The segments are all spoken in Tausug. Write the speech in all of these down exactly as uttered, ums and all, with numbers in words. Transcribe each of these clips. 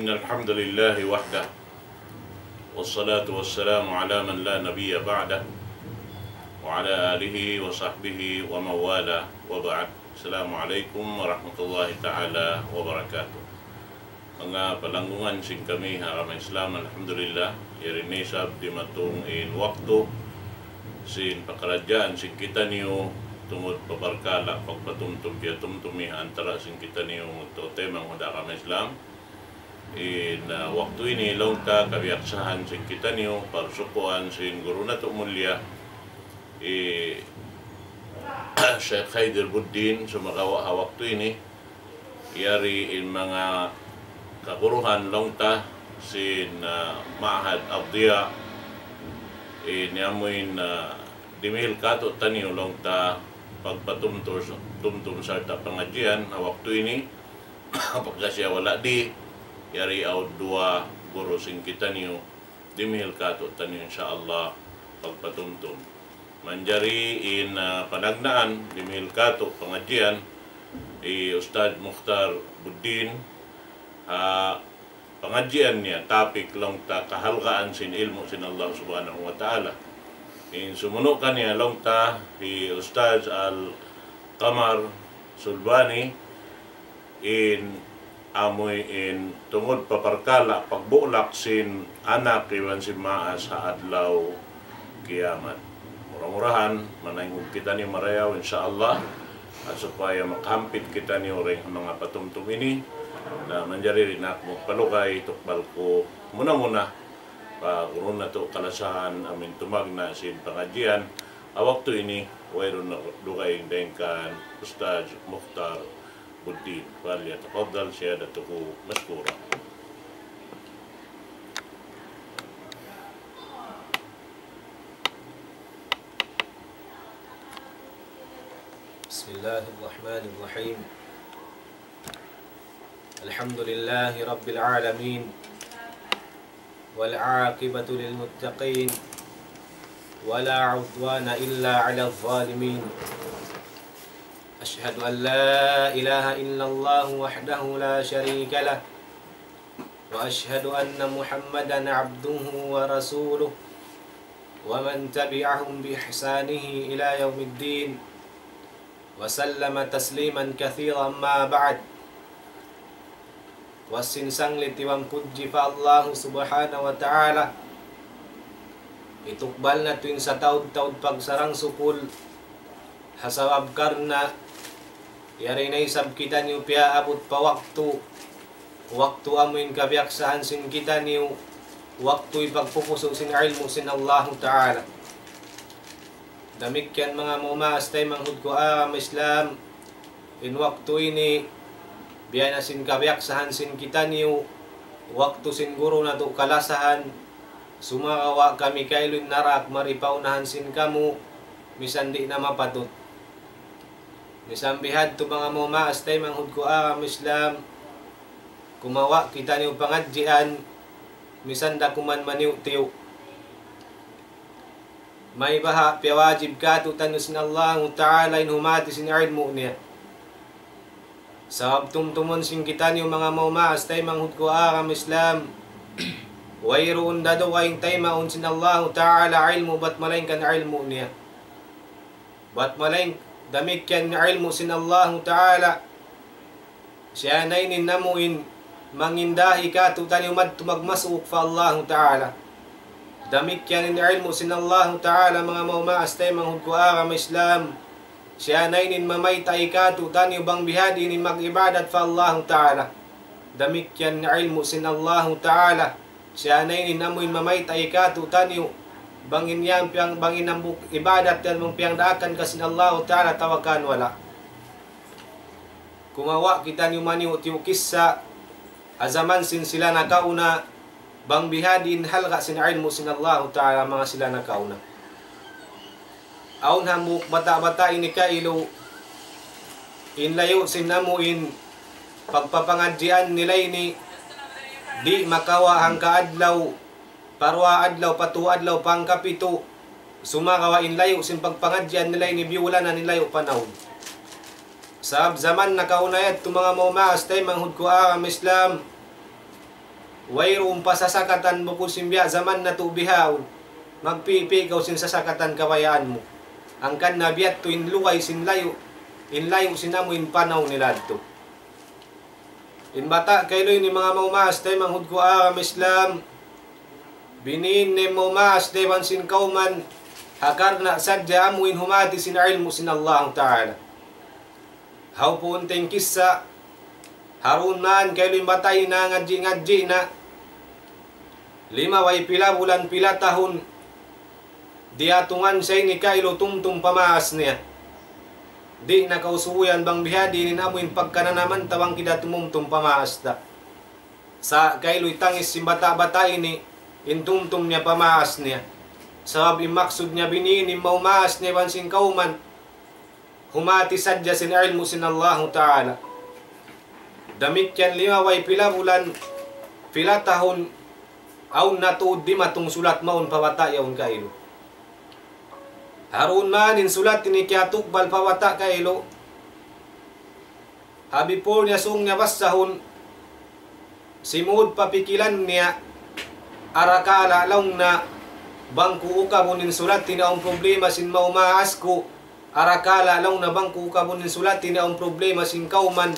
إن الحمد لله وحده، والصلاة والسلام على من لا نبي بعده، وعلى آله وصحبه ومن والاه، وبعد. السلام عليكم ورحمة الله تعالى وبركاته. Manga palanggungan sin kami ha agama Islam, alhamdulillah, yari na isab dimatung in waktu sin pakaradjaan sin kitaniyu tungud pa parkala' pagpatumtum piyatumtumi ha antara' sin kitaniyu magtautay manghud ha agama Islam. In, ah, waktu ini laung ta kabiyaksahan sin kitaniyu, parsukuan sin guru natu' mulia, hi Sheikh Haider Buddin, sumagawa' ha waktu ini, yari in manga kaguruhan laung ta sin, ah, Ma'had Ad-Diya, in amuin, ah, dimihil kātu'niyu laung ta pagpatumtum, tumtum sarta' pangadjian ha waktu ini, pagka siya wala' di, yari awn duwa guru sin kitaniyu, dimihil kātu'niyu, insya Allah, pagpatumtum. Manjari in, ah, panagnaan, dimihil kātu' pangadjian, hi Ustadz Mukhtar Buddin, ah, pangadjian niya, topic laung ta kahalgaan sin ilmu' sin Allah Subhanahu wa Ta'ala. In sumunu' kaniya laung ta, hi Ustadz Al-Qamar Sulbani, in amuin tungud pa parkala' pagbulak sin anak iban sin maas ha adlaw kiyamat. Mura-murahan, manaynghud kitaniyu marayaw, insya Allah. At supaya makahampit kitaniyu dayn ha manga patumtum ini, na manjari di' na aku magpalugay, tukbal ku muna-muna pa guru natu' kalasahan, amuin tumagna' sin pangadjian. Ha waktu ini, wayruun na dugaing dayn kan Ustadz Mukhtar Buddin. فليتفضل سيادته مشكورا. بسم الله الرحمن الرحيم. الحمد لله رب العالمين، والعاقبة للمتقين، ولا عدوان إلا على الظالمين. أشهد أن لا إله إلا الله وحده لا شريك له، وأشهد أن محمدا عبده ورسوله، ومن تبعهم بإحسانه إلى يوم الدين، وسلم تسليما كثيرا. أما بعد. Puas sin sanglit iban pudji pa Allahu Subhanahu wa Ta'ala. Hitukbal natu' in sataud-taud pagsarang-sukul. Ha sabab karna' yari na isab kitaniyu piyaabut pa waktu, waktu amuin kabiyaksahan sin kitaniyu, waktu hipagpupusu' sin ilmu' sin Allahu Ta'ala. Damikkiyan manga maas taymanghud ku ha agama Islam, in waktu ini, biya' na sin kabiyaksahan sin kitaniyu, waktu sin guru natu' kalasahan, sumagawa' kami kailu in narak mari pa unahan sin kamu, misan di' na mapatut. Misan bihadtu manga maas taymanghud ku ha agama Islam, kumawa' kitaniyu pangadjian, misan da kuman maniyu'-tiyu'. Maybaha' piyawajib kātu'niyu sin Allahu Ta'ala in humati sin ilmu' niya. Sabab tumtumun sin kitaniyu manga maas taymanghud ku ha agama Islam, wayruun da dugaing taymaun sin Allahu Ta'ala ilmu' bat malaingkan ilmu' niya. Bat malaing damikkiyan in ilmu' sin Allahu Ta'ala, siya na ini in amuin mangindahi kātu'niyu madtu magmasuuk pa Allahu Ta'ala. Damikkiyan in ilmu' sin Allahu Ta'ala, manga maas taymanghud ku ha agama Islam, siya na ini in mamayta' kātu'niyu bang bihadtu in mag-ibadat pa Allahu Ta'ala. Damikkiyan in ilmu' sin Allahu Ta'ala, siya na ini in amuin mamayta' kātu'niyu bang in yan piyang, bang in hambuuk ibadat yan bang piyangdaakan ka sin Allahu Ta'ala atawa kan wala'. Kumawa' kitaniyu maniyu'-tiyu' kissa ha jaman sin sila nakauna, bang bihadtu in halga' sin ilmu' sin Allahu Ta'ala manga sila nakauna. Awn hambuuk bata'-bata' ini kailu, in layu' sin amuin pagpapangadjian nila ini, di' makawa' hangka adlaw, pa duwa adlaw, pa tū adlaw, pa hangka pitu', sumagawa' in layu' sin pagpangadjian nila ini biyulanan in layu' panahun. Sabab jaman nakauna yadtu manga maas taymanghud ku ha agama Islam, Wayruun pa sasakatan bukun sin biya' jaman natu' bihaun. Magpipi kaw sin sasakatan kabayaan mu. Hangkan na biya' tu in lugay sin layu', in layu' sin amu in panaw nila yadtu. In bata' kailu ini manga maumaas taymanghud ku agama Islam, biniin niya maumaas da iban sin kawman, ha karna' sadja amu in humati sin ilmu' sin Allahu Ta'ala. Hawpuun ta in kissa, ha duun man kailu in bata' ini nangadji'-ngadji' na. Limabay pila bulan, pila tahun, diyatungan siya ini kailu tumtum pamaas niya. Di' na kausubuyan bang bihadtu in amu in pagkananaman ta bang kita tumumtum pamaas ta. Sa' kailu itangis sin bata'-bata' ini, in tumtum niya pamaas niya. Sabab in maksud niya biniin in maumaas niya iban sin kawman, humati sadja sin ilmu' sin Allahu Ta'ala. Damikkiyan limabay pila bulan, pila tahun, awn na tuud dimatung sulat mawn pa bata' yaun kailu. Ha duun man in sulat ini kiyatukbal pa bata' kailu. Ha before niya sūng niya basahun, simud pa pikilan niya, arakala' laung niya bang ku ukabun in sulat ini awn problema sin maumaas ku, arakala' laung niya bang ku ukabun in sulat ini awn problema sin kawman,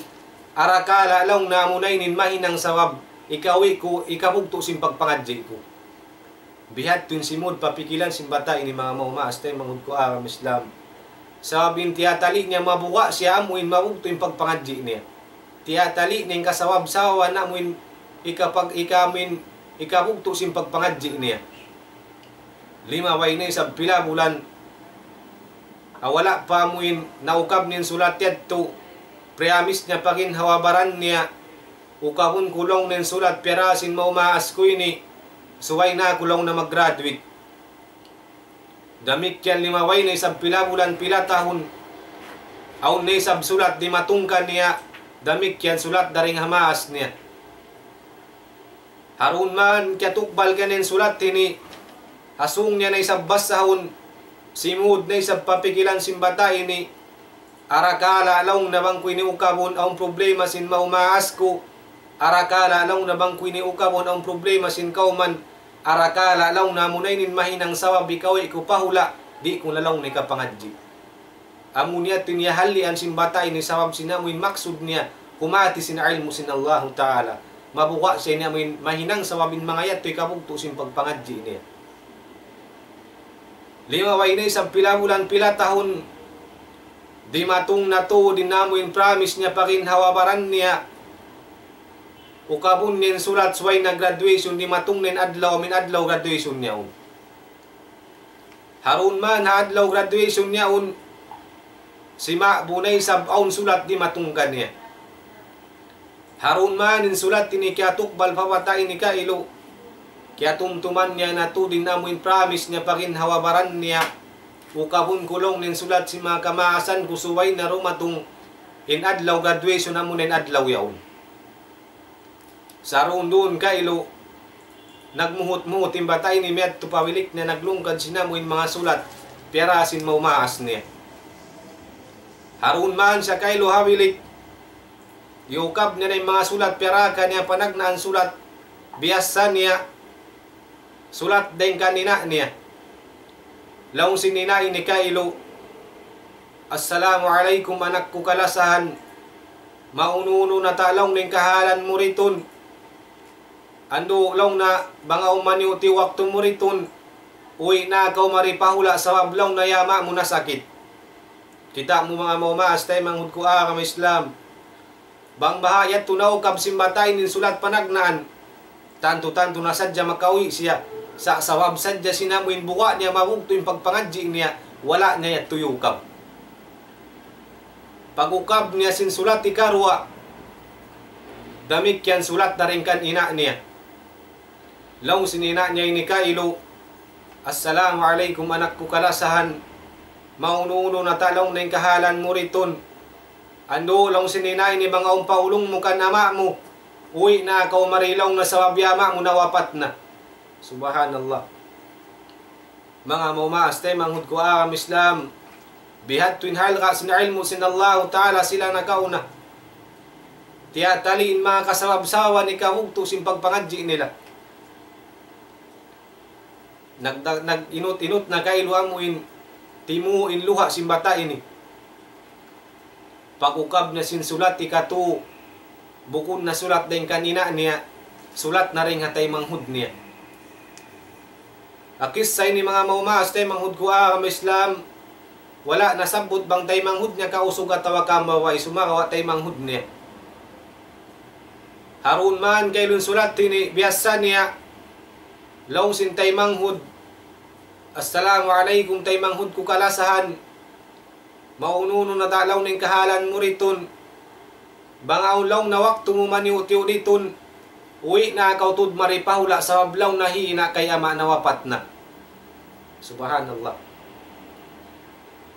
arakala' laung niya amuna ini in mahinang sabab ikawi ku, ikabugtu' sin pagpangadji' ku. Bihadtu in simud pa pikilan sin bata' ini manga maumaas taymanghud ku agama Islam. Sabab in tiyatali' niya mabuga' siya amu in mabugtu' in pagpangadji' niya. Tiyatali' niya in kasawab-sawaban amu in ikapag-, ikamin, ikabugtu' sin pagpangadji' niya. Limabay na isab pila bulan, wala' pa amu in naukab niya in sulat yadtu, priyamis niya pa ginhawa-baran niya, ukabun ku laung niya in sulat piyara sin maumaas ku ini, subay na aku laung niya mag-graduate. Damikkiyan limabay na isab pila bulan, pila tahun, awn na isab sulat dimatung kaniya, damikkiyan sulat dayn ha maas niya. Ha duun man kiyatukbal kaniya in sulat ini, ha sūng niya na isab basahun, simud na isab pa pikilan sin bata' ini, arakala' laung niya bang ku ini ukabun awn problema sin maumaas ku, arakala' laung niya bang ku ini ukabun awn problema sin kawman, arakala' laung niya amuna ini in mahinang sabab ikawi ku pa hula', di' ku na laung niya ikapangadji'. Amu niya yadtu in halian sin bata' ini sabab sin amu in maksud niya, humati sin ilmu' sin Allahu Ta'ala. Mabuga' siya ini amu in mahinang sabab in manga yadtu ikabugtu' sin pagpangadji' niya. Limabay na isab pila bulan, pila tahun, dimatung na tuud in amu in promise niya pa ginhawa-baran niya. Ukabun niya in sulat subay na graduation, dimatung na in adlaw, amu in adlaw graduation niya yaun. Ha duun man ha adlaw graduation niya yaun, sima'bu na isab awn sulat dimatung kaniya. Ha duun man in sulat ini kiyatukbal pa bata' ini kailu, kiyatumtuman niya na tuud in amu in promise niya pa ginhawa-baran niya, ukabun ku laung niya in sulat sin manga kamaasan ku subay na dumatung in adlaw graduation amuna in adlaw yaun. Sa' duun-duun kailu, nagmuhut-muhut in bata' ini miyadtu pa bilik niya, naglungkad sin amu in manga sulat piyara sin maumaas niya. Ha duun man siya kailu ha bilik, iyukab niya na in manga sulat piyara kaniya, panagnaan sulat biyassa niya, sulat dayn kan ina' niya. Laung sin ina' ini kailu, "Assalamu alaykum anak ku kalasahan. Maunu-unu na ta' laung niya in kahalan mu ritun. Andu' laung niya bang awn maniyu' waktu mu ritun, uwi' na kaw mari pa hula' sabab laung niya in ama' mu nasakit." Kita' mu manga maumaas taymanghud ku agama Islam. Bang baha' yadtu naukab sin bata' ini in sulat panagnaan, tantu-tantu na sadja makauwi' siya. Sa' sabab sadja sin amu in buga' niya mabugtu' in pagpangadji' niya, wala' niya yadtu iyukab. Pag-ukab niya sin sulat ikaruwa, damikkiyan sulat dayn kan ina' niya. Laung sin ina' niya ini kailu, "Assalamu alaykum anak ku kalasahan. Maunu-unu na ta' laung niya in kahalan mu ritun. Andu' laung sin ina' ini bang awn pa ulung mu kan ama' mu, uwi' na kaw mari laung niya sabab in ama' mu nawapat na." Subhanallah. Manga maumaas taymanghud ku agama Islam, bihadtu in halga' sin ilmu' sin Allahu Ta'ala sila nakauna. Tiyatali in manga kasabab-sababan hikabugtu' sin pagpangadji' nila. Nag-, nag-inut-inut na kailu amu in timu' in luha' sin bata' ini. Pag-ukab na sin sulat hikatu, bukun na sulat dayn kan ina' niya, sulat na dayn ha taymanghud niya. Ha kissa ini manga maumaas taymanghud ku agama Islam, wala' nasabbut bang taymanghud niya kausug atawa kambabay, sumagawa' taymanghud niya. Harun man kailun sulat ini, biyassa niya, laung sin taymanghud, "Assalamu alaykum taymanghud ku kalasahan. Maunu-unu na ta laung in kahalan mu ditun. Bang awn laung na waktu mu maniyu'-tiyu' ditun, uwi' na kaw tuud mari pa hula' sabab laung na hi ina' kay ama' nawapat na." Subhanallah.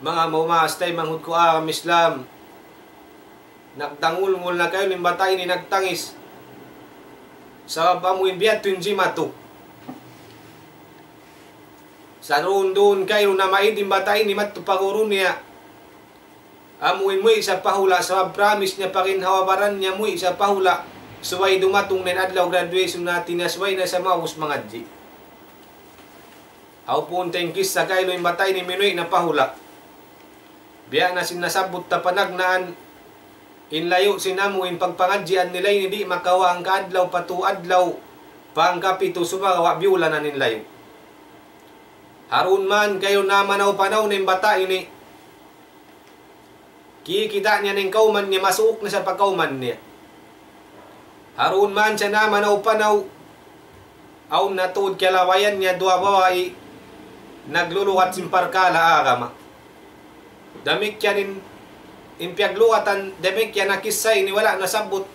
Manga maumaas taymanghud ku agama Islam, nagtangulngul na kailu in bata' ini nagtangis. Sabab amu in biya' tuud in jimatu. Sa' duun-duun kailu na maid in bata' ini madtu pa guru niya. Amu in muwi' sa pa hula', sabab promise niya pa ginhawa-baran niya muwi' sa pa hula'. Subay dumatung na in adlaw graduation natu' niya, subay na sa maubus mangadji'. Hawpun ta in kissa kailu in bata' ini minuwi' na pa hula'. Biya' na sin nasabbut ta panagnaan, in layu' sin amu in pagpangadjian nila ini di' makawa' hangka adlaw pa tū adlaw, pa hangka pitu sumagawa' biyulanan in layu'. Harun man kailun namanaw-panaw na in bata' ini. Kikita' niya na in kawman niya, masuuk na sa pa kawman niya. Harun man siya namanaw-panaw, awn na tuud kiyalabayan niya duwa babai, naglulugat sin parkala' agama. Damikkiyan in, in piyaglugatan, damikkiyan na kissa ini wala' nasabbut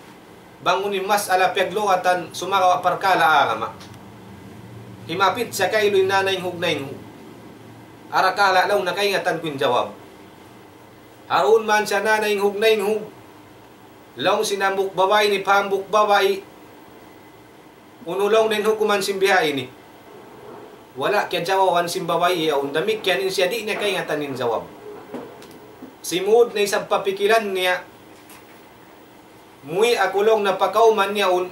bang unu in mas'ala piyaglugatan sumagawa' parkala' agama. Himapit siya kailu in nanaynghug-naynghug. Arakala' laung na kaingatan ku in jawab. Harun man siya nanaynghug-naynghug. Laung sin hambuuk babai ini pa hambuuk babai, unu laung in hukuman sin biha' ini. Wala' kiyajawaban sin babai yaun, damikkiyan in siya di' niya kaingatan in jawab. Simud na isab pa pikilan niya, muwi' aku laung na pa kawman yaun,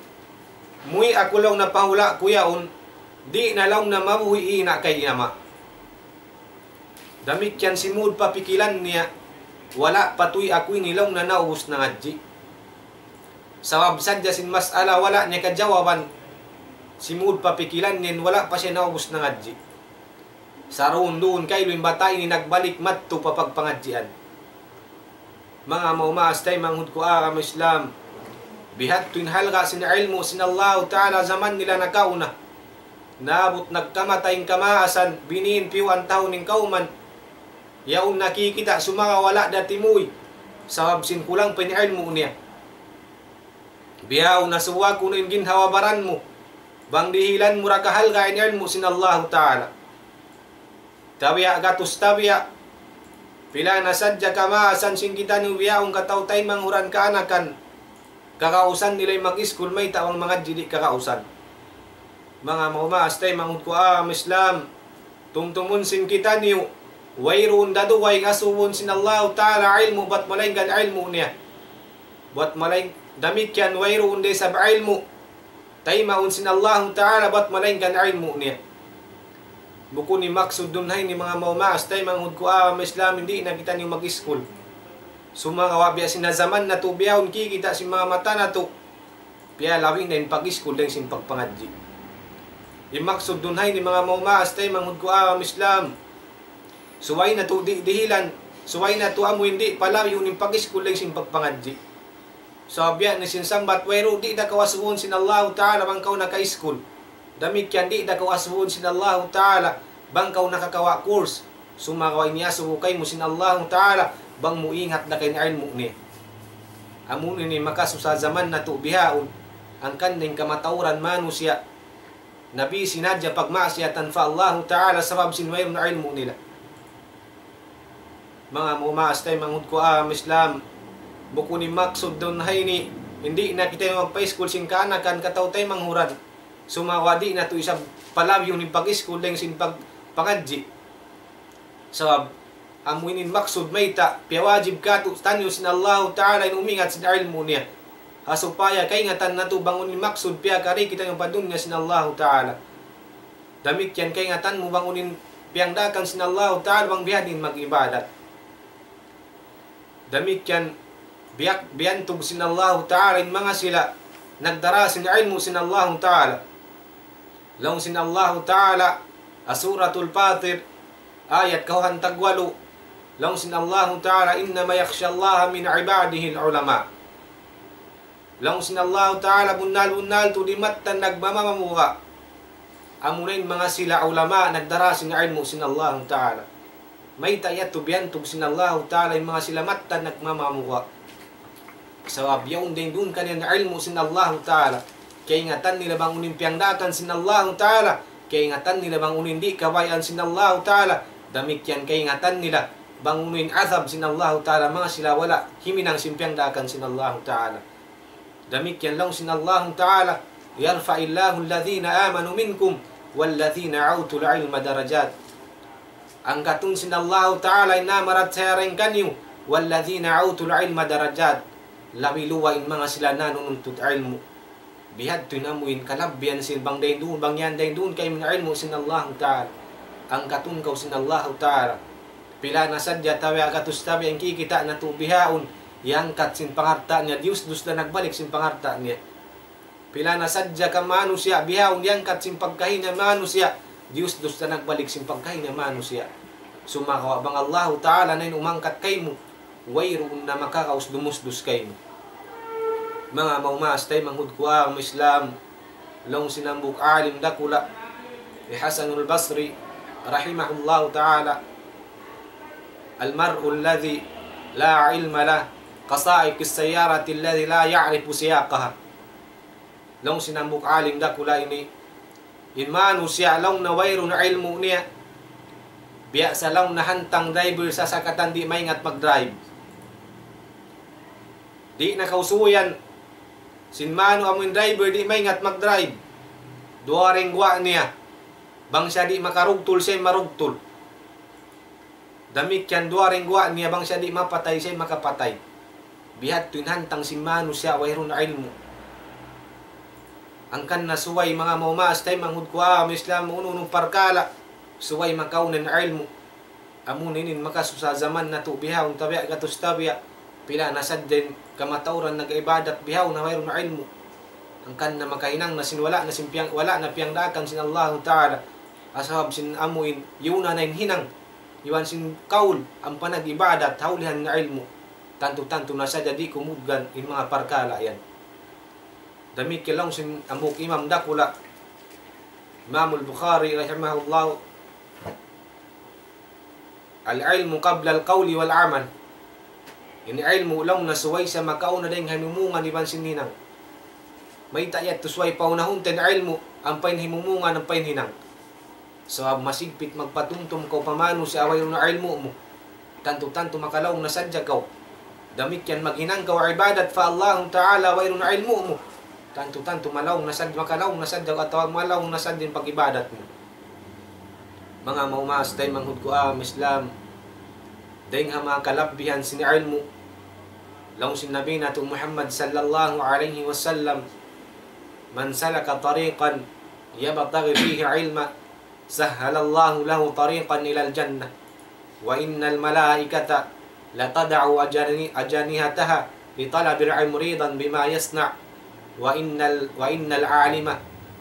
muwi' aku laung na pa hula' ku yaun, di' na laung na mabuhi' ina' kay ama'. Damikkiyan simud pa pikilan niya, wala' pa tuy aku ini laung na naubus nangadji'. Sabab sadja sin mas'ala wala' niya kajawaban, simud pa pikilan niya, wala' pa siya naubus nangadji'. Sa' duun-duun kailu in bata' ini nagbalik madtu pa pagpangadjian. Manga maumaas taymanghud ku agama Islam, bihadtu in halga' sin ilmu' sin Allahu Ta'ala jaman nila nakauna. Naabut nagkamatay in kamaasan, biniin piyuan tahun in kawman. Yaun nakikita' sumagawa' wala' da timuy, sabab sin kulang pa in ilmu' niya. Bihaun asubuhun kunu' in ginhawa-baran mu, bang dihilan mu da kahalga' in ilmu' sin Allahu Ta'ala. Tabiya' gatus tabiya'. Pila na sadja kamaasan sin kitaniyu bihaun kataw-taymanghuran kaanakan. Kagausan nila in mag-iskul mayta' bang mangadji' di' kagausan. Manga maumaas taymanghud ku agama Islam. Tumtumun sin kitaniyu. Wayruun da dugaing asubuhun sin Allahu Ta'ala ilmu' bat malaingkan ilmu' niya. Bat malaing-, damikkiyan wayruun da isab ilmu' taymaun sin Allahu Ta'ala bat malaingkan ilmu' niya. Bukun in maksud duun ha ini manga maumaas taymanghud ku agama Islam, di' na kitaniyu mag-iskul. Sumagawa' biya' sin ha jaman natu' bihaun kikita' sin manga mata natu'. Piyalabi' na in pag-iskul dayn sin pagpangadji'. In maksud duun ha ini manga maumaas taymanghud ku agama Islam. Subay natu' di-, dihilan, subay natu' amu in di' palabiun in pag-iskul dayn sin pagpangadji'. Sabab biya' na sin sambat wayruun, di' da kaw asubuhun sin Allahu Ta'ala bang kaw naka-iskul. Damikkiyan di' da kaw asubuhun sin Allahu Ta'ala bang kaw nakakawa' course. Sumagawa' ini asubu kaymu sin Allahu Ta'ala bang mu ingat da kaw in ilmu' niya. Amu ini makasusa jaman natu' bihaun, hangkan na in kamatauran manusiya' nabi sinadja pagmaksiyatan pa Allahu Ta'ala sabab sin wayruun ilmu' nila. Manga maumaas taymanghud ku agama Islam, bukun in maksud duun ha ini, di' na kitaniyu magpa-iskul sin kaanakan kataw-taymanghuran. Sumagawa' di' natu' isab palabiun in pag-iskul dayn sin pag-, pangadji'. Sabab, amu ini in maksud mayta', piyawajib kātu'niyu sin Allahu Ta'ala in umingat sin ilmu' niya. Ha supaya kaingatan natu' bang unu in maksud piyakari kitaniyu pa dunya sin Allahu Ta'ala. Damikkiyan kaingatan mu bang unu in piyangdaakan sin Allahu Ta'ala bang biya' diin mag-ibadat. Damikkiyan biyak-, biyantug sin Allahu Ta'ala in manga sila nagdara sin ilmu' sin Allahu Ta'ala. Laung sin Allahu Ta'ala, ha Suratul Fatir, ayat kawhaan tagwalu, laung sin Allahu Ta'ala, إنما يخشى الله من عباده العلماء. Laung sin Allahu Ta'ala, bunnal-bunnal tuud in mattan nagmamamuga'. Amuna in manga sila ulama nagdara sin ilmu' sin Allahu Ta'ala. Mayta' yadtu biyantug sin Allahu Ta'ala in manga sila mattan nagmamamuga'. Sabab yaun dayn duun kaniya in ilmu' sin Allahu Ta'ala. Kaingatan nila bang unu in piyangdaakan sin Allahu Ta'ala. Kaingatan nila bang unu in di' kabayaan sin Allahu Ta'ala. Damikkiyan kaingatan nila bang unu in azab sin Allahu Ta'ala. Manga sila wala' himinang sin piyangdaakan sin Allahu Ta'ala. Damikkiyan laung sin Allahu Ta'ala, يرفع الله الذين آمنوا منكم والذين أوتوا العلم درجات. Angkatun sin Allahu Ta'ala in nagparachaya dayn kaniyu, والذين أوتوا العلم درجات. Labi luwa in manga sila nanununtut ilmu'. Bihadtu in amu in kalabbihan sin bang dayn duun, bang yan dayn duun kaymu in ilmu' sin Allahu Ta'ala. Angkatun kaw sin Allahu Ta'ala. Pila na sadja tabiya' gatus tabiya' in kikita' natu' bihaun, iyangkat sin pangalta' niya, diyusdus da nagbalik sin pangalta' niya. Pila na sadja ka manusiya' bihaun, iyangkat sin pagkahi niya manusiya', diyusdus da nagbalik sin pagkahi niya manusiya'. Sumagawa' bang Allahu Ta'ala na in umangkat kaymu, wayruun na makaraus dumusdus kaymu. Manga maumaas taymanghud ku agama Islam, laung sin hambuuk alim dakula', hi Hasanul Basri, rahimahullahu ta'ala, المرء الذي لا علم له كسائق السيارة الذي لا يعرف سياقها. Laung sin hambuuk alim dakula' ini, in manusiya' laung niya wayruun ilmu' niya, biya' sa laung niya hantang driver sasakatan di' maingat mag-drive. Di' na kaw suyan sin manu amu in driver di' maingat mag-drive. Duwa da in guwa' niya. Bang siya di' makarugtul, siya marugtul. Damikkiyan duwa da in guwa' niya, bang siya di' mapatay, siya makapatay. Bihadtu in hantang sin manusiya' wayruun ilmu'. Hangkan na subay manga maumaas taymanghud ku agama Islam, unu-unu parkala', subay makauna in ilmu'. Amu na ini in makasusa jaman natu' bihaun, tabiya' gatus tabiya', pila na sadja in kamatauran nag-ibadat bihaun na wayruun ilmu'. Hangkan na makahinang na sin wala' na sin piyang-, wala' na piyangdaakan sin Allahu Ta'ala. Sabab sin amu in, yuna na in hinang. Iban sin kaul, ampa nag-ibadat, ha ulihan na ilmu'. Tantu-tantu na sadja di' kumugdan in manga parkala' yan. Damikkiyan laung sin hambuuk imam dakula', Imamul Bukhari rahimahullah, العلم قبل القول والعمل. In ilmu' laung niya subay siya makauna dayn ha himumungan iban sin hinang. Mayta' yadtu subay paunahun ta in ilmu', ampa in himumungan, ampa in hinang. Sabab masigpit magpatumtum kaw pa manusiya' wayruun ilmu' mu. Tantu-tantu makalaung na sadja kaw. Damikkiyan maghinang kaw ibadat pa Allahu Ta'ala wayruun ilmu' mu. Tantu-tantu malaung na sadja, makalaung na sadja atawa malaung na sadja in pag-ibadat mu. Manga maumaas taymanghud ku agama Islam, dayn ha manga kalabbihan sin ilmu', laung sin Nabi natu' Muhammad sallallahu alayhi wasallam, من سلك طريقا يبتغي فيه علما سهل الله له طريقا إلى الجنة، وإن الملائكة لتضع أجن-، أجنحتها لطالب العلم رضا بما يصنع، وإن ال-، وإن العالم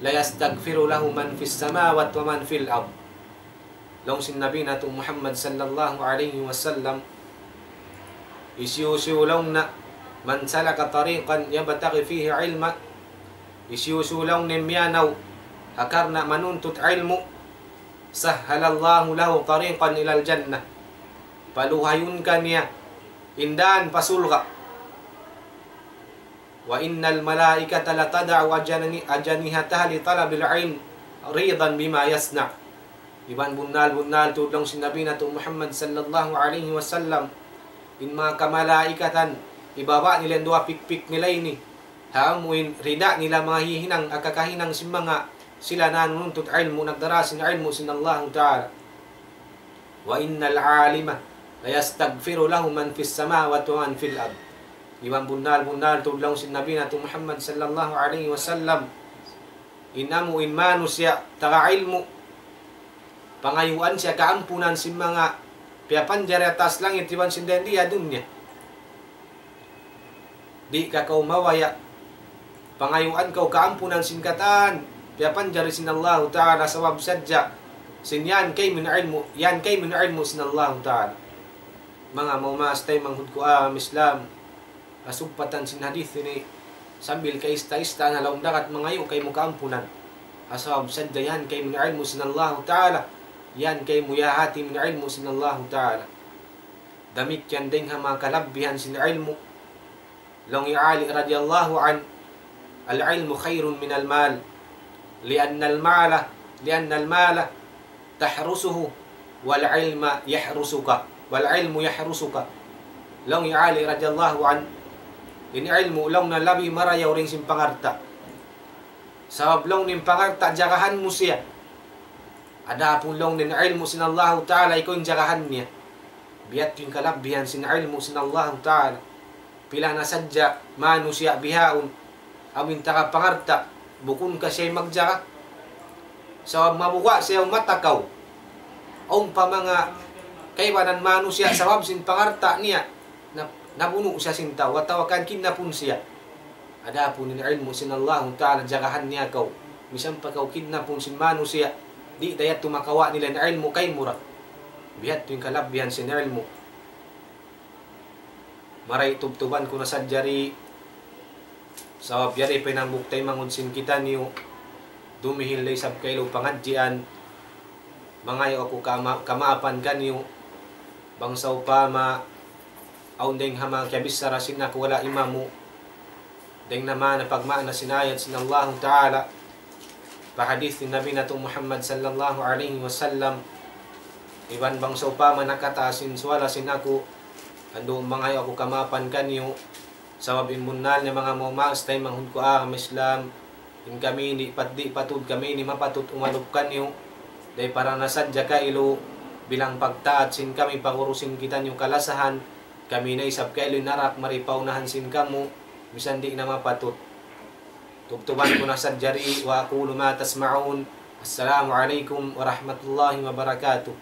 ليستغفر له من في السماوات ومن في الأرض. Laung sin Nabi natu' Muhammad sallallahu alayhi wasallam, hisiyu-siyu laung niya, من سلك طريقا يبتغي فيه علما, hisiyu-siyu laung niya miyanaw ha karna' manuntut ilmu', سهل الله له طريقا إلى الجنة. Paluhayun kaniya in dān pa surga'. وإن الملائكة لتضع أجن-، أجنحتها لطالب العلم رضا بما يصنع. Iban bunnal-bunnal tuud laung sin Nabi natu' Muhammad sallallahu alayhi wasallam, in manga kamalaikatan, hibaba' nila in duwa pikpik nila ini, ha amu in rida nila manga hihinang, ha kakahinang sin manga sila nanuntut ilmu', nagdara sin ilmu' sin Allahu Ta'ala. وإن العالم ليستغفر له من في السماوات ومن في الأرض. Iban bunnal-bunnal tuud laung sin Nabi natu' Muhammad sallallahu alayhi wasallam, in amu in manusiya' taga ilmu', pangayuan siya kaampunan sin manga piyapanjari ha taas langit iban sin dayn di ha dunya. Di' ka kaw mabaya', pangayuan kaw kaampunan sin katan piyapanjari sin Allahu Ta'ala, sabab sadja sin yan kaymu in ilmu', yan kaymu in ilmu' sin Allahu Ta'ala. Manga maumaas taymanghud ku agama Islam, kasugpatan sin hadith ini, sambil kaista-ista na laung dagat mangayu' kaymu kaampunan. Sabab sadja yan kaymu in ilmu' sin Allahu Ta'ala, yan kaymu yahati in ilmu' sin Allahu Ta'ala. Damikkiyan dayn ha manga kalabbihan sin ilmu'. Laung hi Ali radiyallahu anhu, العلم خير من المال، لأن المال، لأن المال تحرسه، والعلم يحرسك، والعلم يحرسك. Laung hi Ali radiyallahu anhu, in ilmu' laung niya labi marayaw dayn sin pangalta'. Sabab laung niya in pangalta' jagahan mu siya. Adapun laung niya in ilmu' sin Allahu Ta'ala, ikaw in jagahan niya. Biya' ha yan in kalabbihan sin ilmu' sin Allahu Ta'ala. Pila na sadja manusiya' bihaun, amu in taga pangalta', bukun ka siya magjaga. Sabab mabuga' siya matakaw. Awn pa manga kaibanan manusiya' sabab sin pangalta' niya, na, nabunu' siya sin tau, atawa kan kidnapun siya. Adapun in ilmu' sin Allahu Ta'ala, jagahan niya kaw. Misan pa kaw kidnapun sin manusiya', di' da yadtu makawa' nila in ilmu' kaymu ra. Biya' ha yan in kalabbihan sin ilmu'. Mari tubtuban ku na sadja di, sabab yari pa in hambuuk taymanghud sin kitaniyu, dumihil da isab kailu pangadjian, mangayu' aku kama-, kamaapan kaniyu, bang sawpama, awn dayn ha manga kiyabichara sin aku wala' imamu, dayn ha manga pagmaana sin ayat sin Allahu Ta'ala, pa hadith sin Nabi natu' Muhammad sallallahu alayhi wasallam, iban bang sawpama nakataas in suwala sin aku, andu' mangayu' aku kamaapan kaniyu, sabab in bunnal niya manga maumaas taymanghud ku agama Islam, in kami di' pat-, di' patud kami ini mapatut umalup kaniyu, dayn para na sadja kailu, bilang pagtaat sin kami pa guru sin kitaniyu kalasahan, kami na isab kailu in narak mari pa unahan sin kamu, misan di' na mapatut. Tubtuban ku na sadja di, وأقول ما تسمعون. السلام عليكم ورحمة الله وبركاته.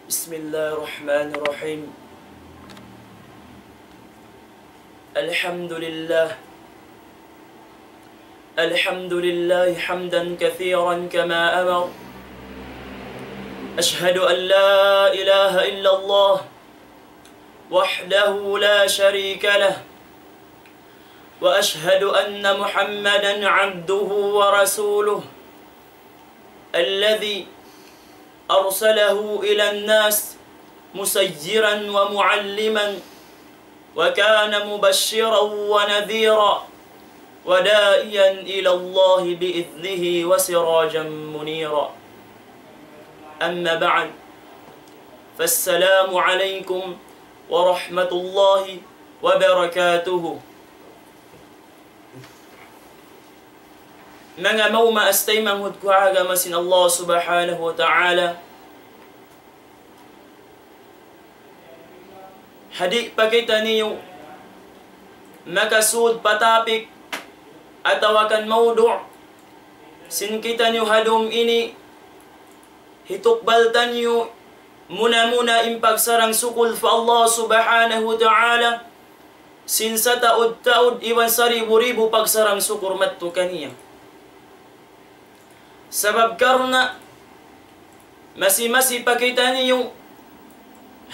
بسم الله الرحمن الرحيم. الحمد لله. الحمد لله حمدا كثيرا كما أمر. أشهد أن لا إله إلا الله وحده لا شريك له، وأشهد أن محمدا عبده ورسوله الذي أرسله إلى الناس مبشرا ومعلما، وكان مبشرا ونذيرا، وداعيا إلى الله بإذنه وسراجا منيرا. أما بعد، فالسلام عليكم ورحمة الله وبركاته. Manga maumaas taymanghud ku agama sin Allah Subhanahu wa Ta'ala, ha di' pa kitaniyu makasud pa topic atawa kan mawdu' sin kitaniyu ha dum ini, hitukbal taniyu muna-muna in pagsarang-sukul pa Allah Subhanahu wa Ta'ala, sin sataud-taud iban saribu-ribu pagsarang-sukul madtu kaniya. Sabab karna' masi-masi pa kitaniyu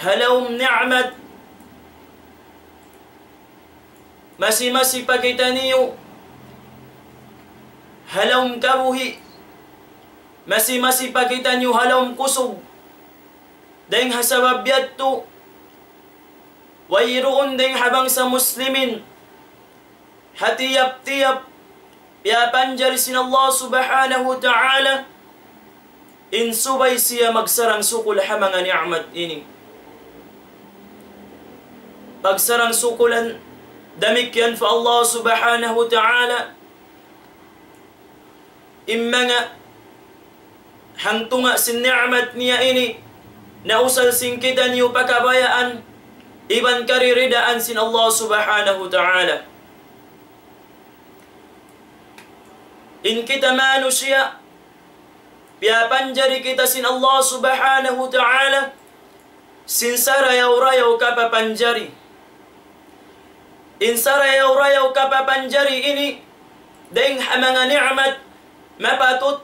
ha lawm ni'mat, masi-masi pa kitaniyu ha lawm kabuhi', masi-masi pa kitaniyu ha lawm kusug. Dayng ha sabab yadtu, wayruun dayng ha bangsa Muslimin ha tiyap-tiyap piyapanjari sin Allah Subhanahu wa Ta'ala in subay siya magsarang-sukul ha manga ni'mat ini. Pagsarang-sukulan damikkiyan pa Allah Subhanahu wa Ta'ala, In manga hangtunga' sin ni'mat niya ini, nausal sin kitaniyu pa kabayaan, iban kariridaan sin Allah Subhanahu wa Ta'ala. In kita manusiya', piyapanjari kita sin Allah Subhanahu wa Ta'ala, sin sarayaw-rayaw kapapanjari. In sarayaw-rayaw kapapanjari ini, dayng ha manga ni'mat, mapatut,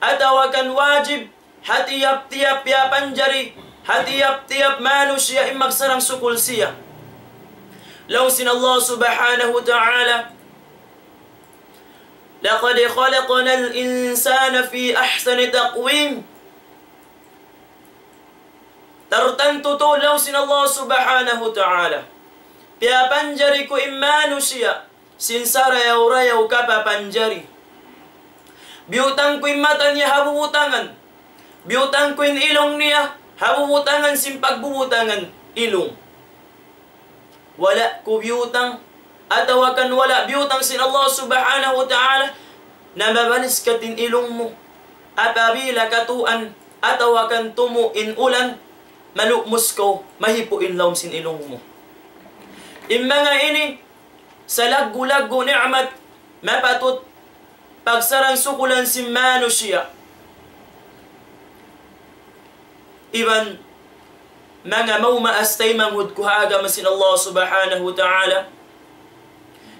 atawa kan wajib, ha tiyap-tiyap piyapanjari, ha tiyap-tiyap manusiya' in magsarang sukul siya. Laung sin Allah Subhanahu wa Ta'ala, لقد خلقنا الإنسان في أحسن تقويم. Tartantu tuud laung sin Allah Subhanahu wa Ta'ala, piyapanjari ku in manusiya' sin sarayaw-rayaw kapapanjari. Biyutang ku in mata niya ha bubutangan. Biyutang ku in ilung niya ha bubutangan sin pagbubutangan ilung. Wala' ku biyutang, atawa kan wala' biyutang sin Allah Subhanahu wa Ta'ala, na mabanis kat in ilung mu. Apabila katuan, atawa kan tumu' in ulan, malukmus kaw, mahipu' in lawm sin ilung mu. In manga ini, salaggu'-laggu' ni'mat, mapatut pagsarang-sukulan sin manusiya'. Iban manga maumaas taymanghud ku ha agama sin Allah Subhanahu wa Ta'ala.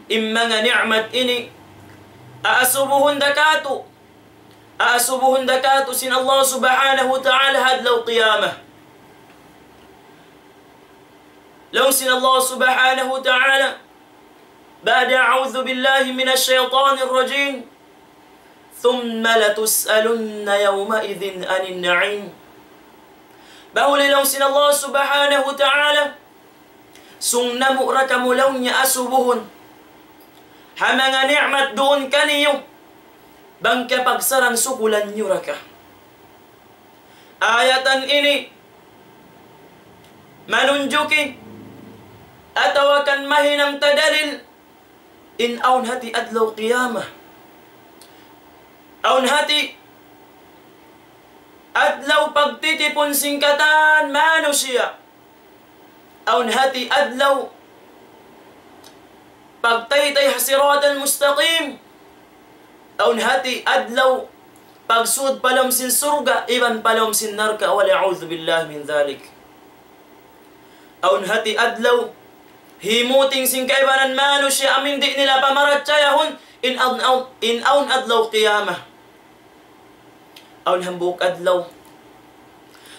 In manga ni'mat ini, aasubuhun da katu', aasubuhun da katu' sin Allah Subhanahu wa Ta'ala ha adlaw qiyamah. Laung sin Allah Subhanahu wa Ta'ala, بعد أعوذ بالله من الشيطان الرجيم. ثم لتسألن يومئذ عن النعيم. Bahuli laung sin Allah Subhanahu wa Ta'ala, sung namu' ra kamu laung niya asubuhun ha manga ni'mat duun kaniyu, bang kiyapagsarang-sukulan niyu ra ka. Ayatan ini manunjuki atawa kan mahinang ta dalil in awn hati adlaw qiyamah. Awn hati adlaw pagtitipun sin katan manusiya'. Awn hati adlaw pagtaytay ha siratal mustaqim. Awn hati adlaw pagsud pa lawm sin surga' iban pa lawm sin narka', والعياذ بالله من ذلك. Awn hati adlaw himuting sin kaibanan manusiya' amu in di' nila pamarachayahun in awn, awn, in awn adlaw qiyamah. Awn hambuuk adlaw,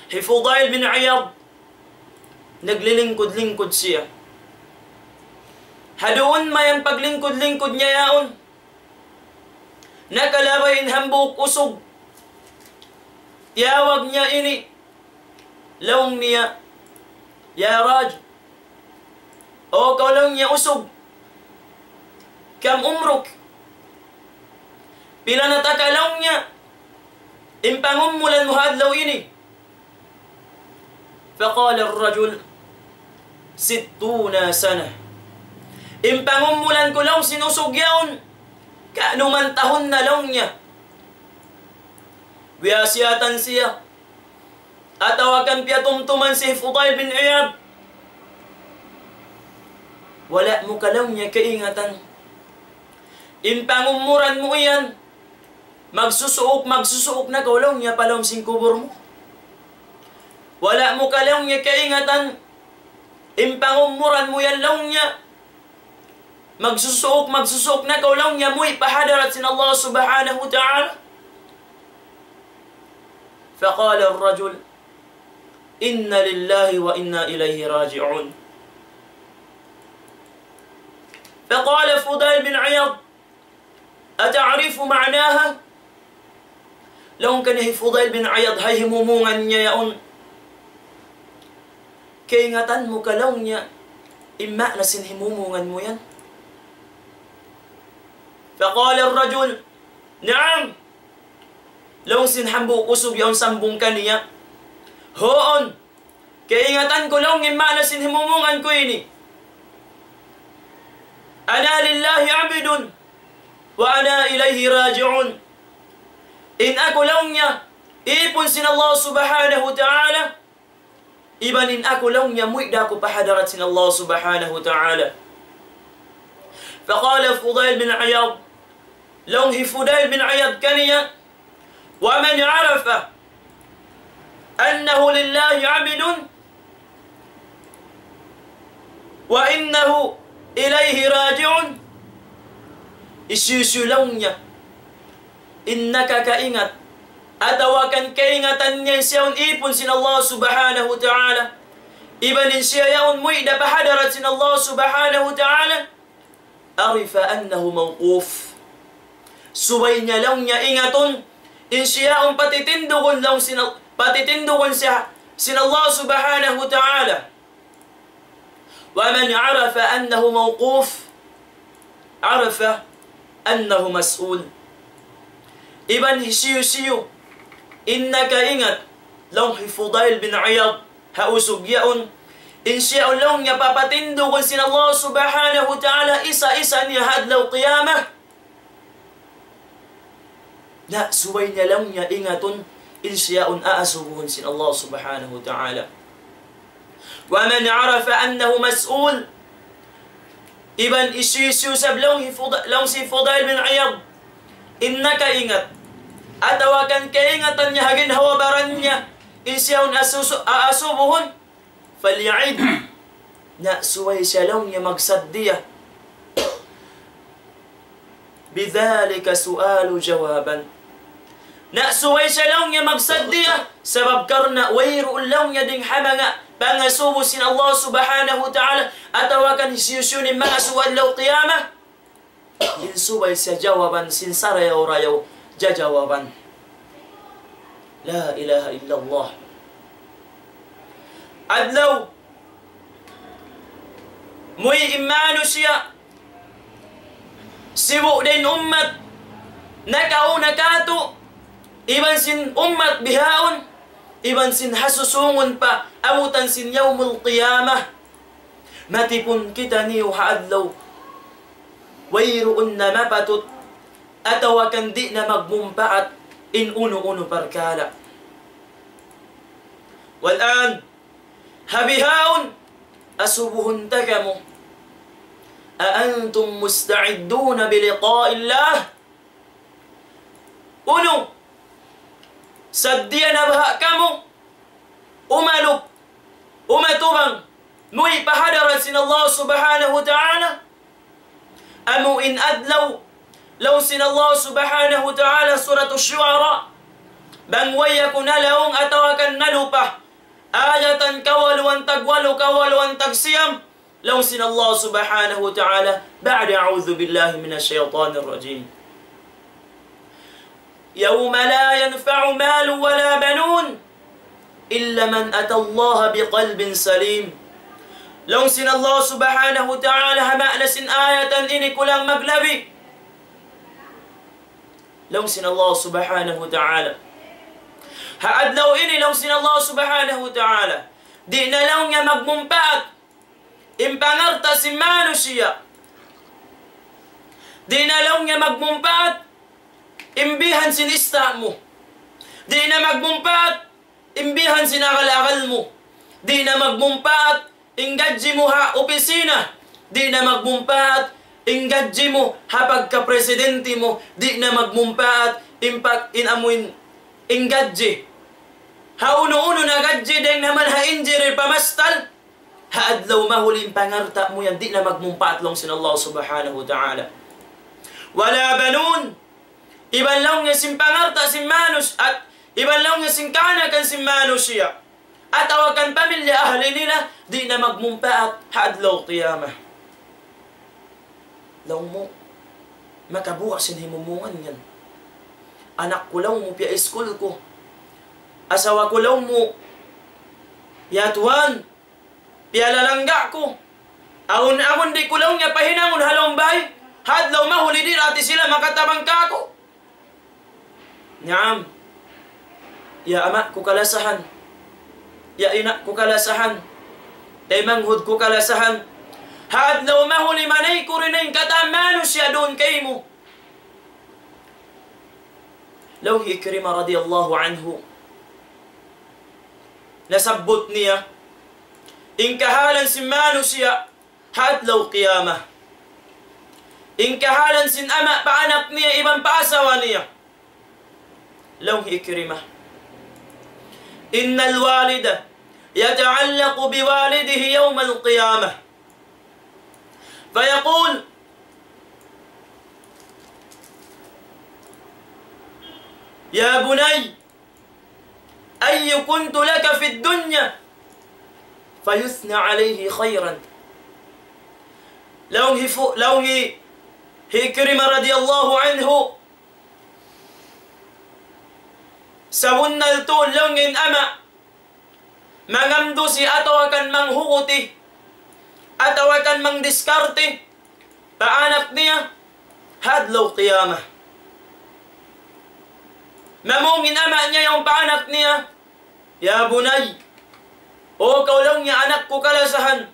hi Fudail bin Iyad, naglilingkud-lingkud siya. Ha duun mayan paglingkud-lingkud niya yaun, nakalabay in hambuuk usug. Tiyawag niya ini, laung niya, يا راجل, O kaw laung niya usug, كم عمرك؟ Pila na taka laung niya in pangumulan mu ha adlaw ini? فقال الرجل: ستون سنة. In pangumulan ku laung sin usug yaun, kanuman tahun na laung niya. Biyasiyatan siya. Atawa kan piyatumtuman hi Fudail bin Iyad. Wala' mu ka laung niya kaingatan. In pangumulan mu yan, magsusuuk, magsusuuk na kaw laung niya pa lawm sin kubul mu. Wala' mu ka laung niya kaingatan. In pangumulan mu yan laung niya, magsusuuk, magsusuuk na kaw laung niya muwi' pa hadarat sin Allah Subhanahu wa Ta'ala. فقال الرجل: إنا لله وإنا إليه راجعون. فقال فضيل بن عياض: أتعرف معناها؟ Laung kaniya hi Fudail bin Iyad ha himumungan niya yaun. Kaingatan mu ka laung niya in maana sin himumungan mu yan? فقال الرجل: نعم. Laung sin hambuuk usug yaun sambung kaniya, huun. Kaingatan ku laung in maana sin himumungan ku ini. أنا لله عبد وأنا إليه راجعون. In aku laung niya, ipun sin Allah Subhanahu wa Ta'ala, iban in aku laung niya muwi' da aku pa hadarat sin Allah Subhanahu wa Ta'ala. فقال فضيل بن عياض, laung hi Fudail bin Iyad kaniya, ومن عرف أنه لله عبد وإنه إليه راجع, hisiyu-siyu laung niya in nakakaingat, atawa kan kaingatan niya in siya yaun ipun sin Allah Subhanahu wa Ta'ala, iban in siya yaun muwi' da pa hadarat sin Allah Subhanahu wa Ta'ala, عرف أنه موقوف. Subay niya laung niya ingatun, in siya yaun patitindugun laung sin, patitindugun siya sin Allah Subhanahu wa Ta'ala. ومن عرف أنه موقوف عرف أنه مسؤول. Iban hisiyu-siyu in nakaingat, laung hi Fudail bin Iyad, ha usug yaun, in siya yaun laung niya papatindugun sin Allah Subhanahu wa Ta'ala isa-isa niya ha adlaw qiyamah. Na subay niya laung niya ingatun, in siya yaun aasubuhun sin Allah Subhanahu wa Ta'ala. ومن عرف أنه مسؤول. Iban hisiyu-siyu sab laung hi Fuda-, laung hi Fudail bin Iyad, in nakaingat, atawa kan kaingatan niya ha ginhawa-baran niya, in siya yaun asusu-, aasubuhun, فليعد. Na subay siya laung niya magsaddiya. بذلك سؤال جوابا. Na subay siya laung niya magsaddiya, sabab karna' wayruun laung niya dayng ha manga pangasubu sin Allah Subhanahu wa Ta'ala, atawa kan hisiyu-siyu in mangasubu adlaw qiyamah, in subay siya jawaban sin sarayaw-rayaw jajawaban. La ilaha illallah. Adlaw, muwi' in manusiya', sibu' da in ummat nakauna kātu', iban sin ummat bihaun, iban sin ha susungun pa abutan sin Yawmul Qiyamah. Matipun kitaniyu ha adlaw wayruun na mapatut atawa kan di' na magmumpaat in unu-unu parkala'. والآن, ha bihaun, asubuhun ta kamu. أأنتم مستعدون بلقاء الله؟ Unu, saddiya na baha' kamu umalup, umatubang, muwi' pa hadarat sin Allah Subhanahu wa Ta'ala? Amu in adlaw, laung sin Allah Subhanahu wa Ta'ala, Surat Ash-Shu'ara, bang way aku nalaung atawa kan nalupa, ayatan kawaluan tagwalu, kawaluan tagsiyam, laung sin Allah Subhanahu wa Ta'ala, بعد أعوذ بالله من الشيطان الرجيم. يوم لا ينفع مال ولا بنون إلا من أتى الله بقلب سليم. Laung sin Allah Subhanahu wa Ta'ala, ha maana sin ayatan ini kulang maglabi. Laung sin Allah Subhanahu wa Ta'ala. Ha adlaw ini, laung sin Allah Subhanahu wa Ta'ala, di' na laung niya magmumpaat in pangalta' sin manusiya'. Di' na laung niya magmumpaat in bihan sin ista' mu. Di' na magmumpaat in bihan sin agal-agal mu. Di' na magmumpaat in gadji mu ha opisina. Di' na magmumpaat in gadji mu ha pagkapresidente mu. Di' na magmumpaat in pag-, in amuin, in gadji. Ha unu-unu na gadji, dayng na man ha injury pamastal. Ha adlaw mahuli in pangalta' mu yan, di' na magmumpaat laung sin Allah Subhanahu wa Ta'ala. ولا بنون. Iban laung niya sin pangalta' sin manus-, at iban laung niya sin kaanakan sin manusiya', atawa kan pamilya ahli nila, di' na magmumpaat ha adlaw qiyamah. Laung mu, makabuga' sin himumungan yan. Anak ku laung mu, piya-iskul ku. Asawa ku laung mu, piyatuan, piyalalangga' ku. Awn-awn di' ku laung niya pahinangun ha lawm bay. Ha adlaw mahuli di' da isab sila makatabang kāku'. Naam. Ya ama' ku kalasahan. Ya ina' ku kalasahan. Taymanghud ku kalasahan. Ha adlaw mahuli manayku' in katan manusiya' duun kaymu. Laung hi Ikrima radiyallahu anhu, nasabbut niya in kahalan sin manusiya' ha adlaw qiyamah. In kahalan sin ama' pa anak niya iban pa asawa niya. Laung hi Ikrima, إن الوالد يتعلق بوالده يوم القيامة فيقول: يا بني، أي كنت لك في الدنيا؟ فيثنى عليه خيرا. Laung hi fu-, laung hi, hi Ikrima radiyallahu anhu, sabunnal tuud laung in ama' mangamdusi atawa kan manghuguti atawa kan mangdiskarte pa anak niya ha adlaw qiyamah. Mamung in ama' niya yaun pa anak niya, يا بني, O kaw laung niya anak ku kalasahan,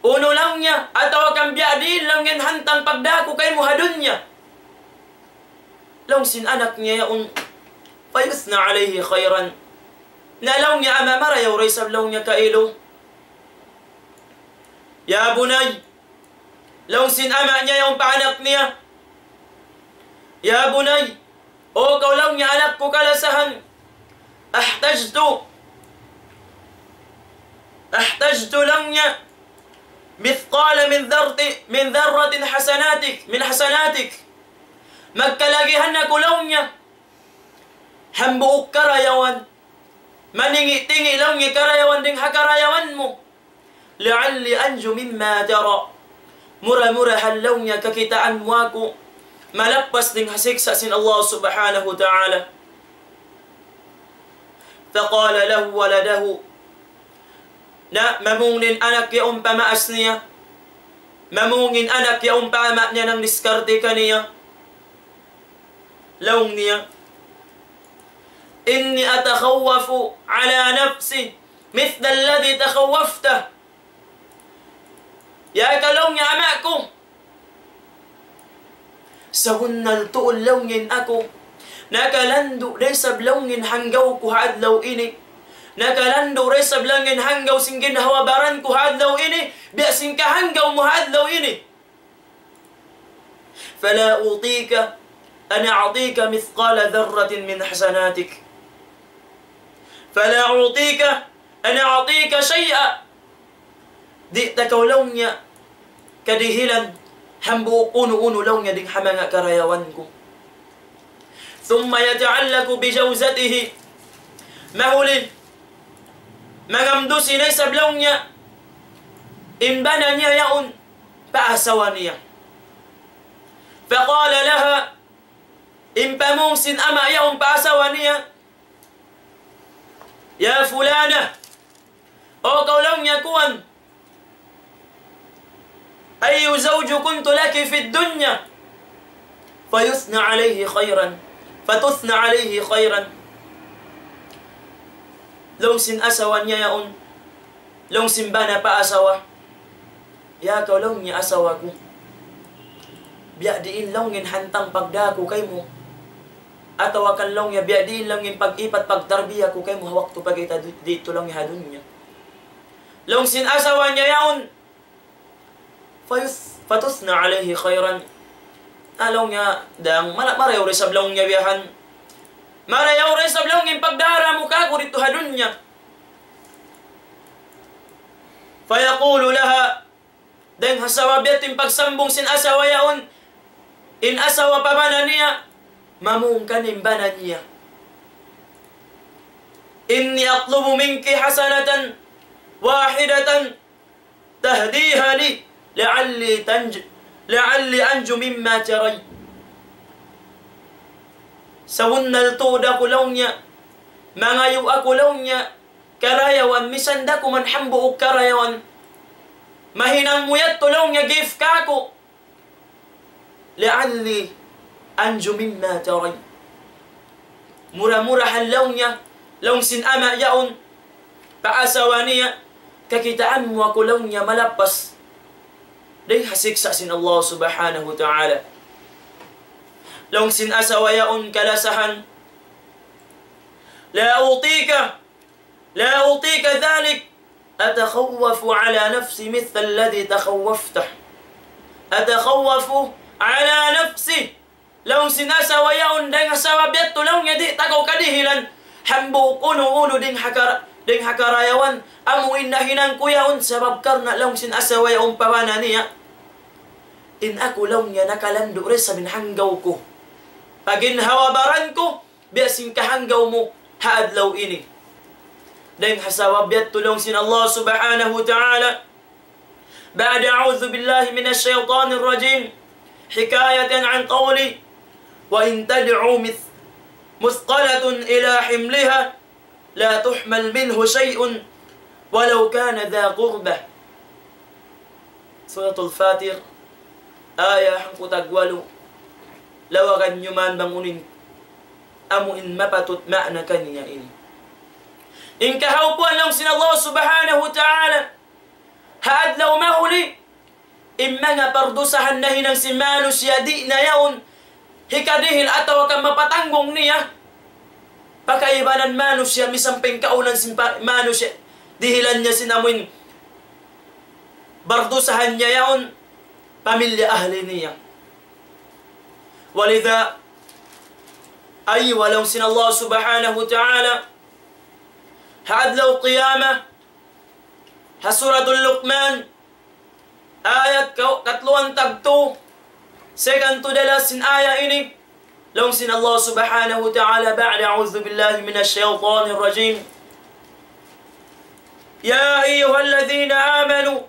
unu laung niya, atawa kan biya' diin laung in hantang pagdā ku kaymu ha dunya? Laung sin anak niya yaun, فيثنى عليه خيرا. Na laung niya ama', marayaw da isab laung niya kailu. يا بني, laung sin ama' niya yaun pa anak niya, يا بني, O kaw laung niya anak ku kalasahan, أحتجت، أحتجت laung niya مثقال من ذرة، من ذرة حسناتك، من حسناتك. Magkalagihan aku laung niya hambuuk karayawan. Maningi'-tingi' laung niya karayawan dayn ha karayawan mu. لعلي أنجو مما ترى. Mura-murahan laung niya kakitaan mu aku malappas dayn ha siksa' sin Allah Subhanahu wa Ta'ala. فقال له ولده. Na mamung in anak yaun pa maas niya. Mamung in anak yaun pa ama' niya nangdiskarte kaniya. Laung niya, إني أتخوف على نفسي مثل الذي تخوفته. Ya kaw laung niya ama' ku, sabunnal tuud laung in aku, nakalandu' da isab laung in hanggaw ku ha adlaw ini. Nakalandu' da isab laung in hanggaw sin ginhawa-baran ku ha adlaw ini, biya' sin kahanggaw mu ha adlaw ini. فلا أعطيك، أنا أعطيك مثقال ذرة من حسناتك. فلا أعطيك، أنا أعطيك شيئا. Di' ta kaw laung niya kadihilan hambuuk unu-unu laung niya dayn ha manga karayawan ku. ثم يتعلق بجوزته. Mahuli, mangamdusi na isab laung niya in bana niya yaun pa asawa niya. فقال لها, in pamung sin ama' yaun pa asawa niya, يا فلانة, O kaw laung niya kuwan, أي زوج كنت لك في الدنيا؟ فيثنى عليه خيرا، فتثنى عليه خيرا. Laung sin asawa niya yaun, laung sin bana pa asawa, ya kaw laung niya asawa ku, biya' diin laung in hantang pagdā ku kaymu, atawa kan laung niya biya' diin laung in pag-ipat pagtarbiya ku kaymu ha waktu pa kita di-, didtu laung niya ha dunya. Laung sin asawa niya yaun, فيث-، فتثنى عليه خيرا. Na laung niya, dang, mala-, marayaw da isab laung niya biya' han. Marayaw da isab laung in pagdara mu kāku' didtu ha dunya. فيقول لها, dayng ha sabab yadtu in pagsambung sin asawa yaun, in asawa pa bana niya, mamung kaniya in bana niya, إني أطلب منك حسنة واحدة تهديها لي لعلي تنج-، لعلي أنجو مما ترين. Sabunnal tuud aku laung niya, mangayu' aku laung niya karayawan, misan da kuman hambuuk karayawan. Mahinang mu yadtu laung niya gift kāku'. لعلي أنجو مما ترين. Mura-murahan laung niya, laung sin ama' yaun pa asawa niya, kakitaan mu aku laung niya malappas dayn ha siksa' sin Allah Subhanahu wa Ta'ala. Laung sin asawa yaun kalasahan, لا أعطيك، لا أعطيك ذلك، أتخوف على نفسي مثل الذي تخوفته. أتخوف على نفسي. Laung sin asawa yaun, dayn ha sabab yadtu laung niya di' ta kaw kadihilan hambuuk unu-unu dayn ha kara-, dayn ha karayawan. Amu in nahinang ku yaun, sabab karna' laung sin asawa yaun pa bana niya, in aku laung niya nakalandu' da isab in hanggaw ku. Paginhawa-baran ku biya' sin kahanggaw mu ha adlaw ini. Dayn ha sabab yadtu laung sin Allah Subhanahu wa Ta'ala, بعد أعوذ بالله من الشيطان الرجيم، حكاية عن قوله: وإن تدع مث-، مثقلة إلى حملها لا تحمل منه شيء ولو كان ذا قربى. Suratul Fatir, aya hangpu' tagwalu. Lawagan niyu man bang unu in amu in mapatut maana kaniya ini. In kahawpuan laung sin Allah Subhanahu wa Ta'ala, ha adlaw mahuli, in manga pardusahan nahinang sin manusiya' di' na yaun hikadihil atawa kan mapatanggung niya pa kaibanan manusiya', misan pa in kaunan sin pa-, manusiya', dihilan niya sin amuin bardusahan niya yaun, pamilya ahli niya. Walidha, ay, laung sin Allah Subhanahu wa Ta'ala, ha adlaw qiyamah, ha Suratul Luqman, ayat ka-, katluan tagtu, second to the last sin ayat ini, laung sin Allah Subhanahu wa Ta'ala, بعد أعوذ بالله من الشيطان الرجيم. يا أيها الذين آمنوا،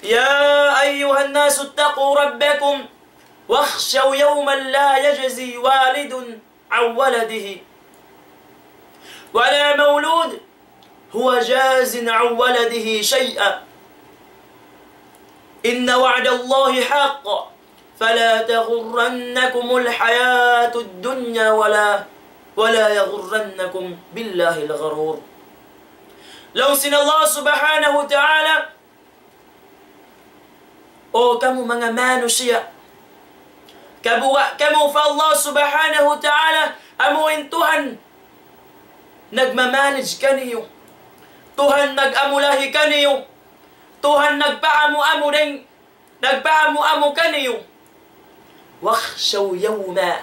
يا أيها الناس اتقوا ربكم واخشوا يوما لا يجزي والد عن ولده ولا مولود هو جاز عن ولده شيئا إن وعد الله حق فلا تغرنكم الحياة الدنيا ولا، ولا يغرنكم بالله الغرور. Laung sin Allah Subhanahu wa Ta'ala, O kamu manga manusiya', kabuga' kamu pa Allah Subhanahu wa Ta'ala, amu in Tuhan nagmamanage kaniyu, Tuhan nag-amulahi kaniyu, Tuhan nagpaamu-amu dayn, nagpaamu-amu kaniyu. واخشوا يوما.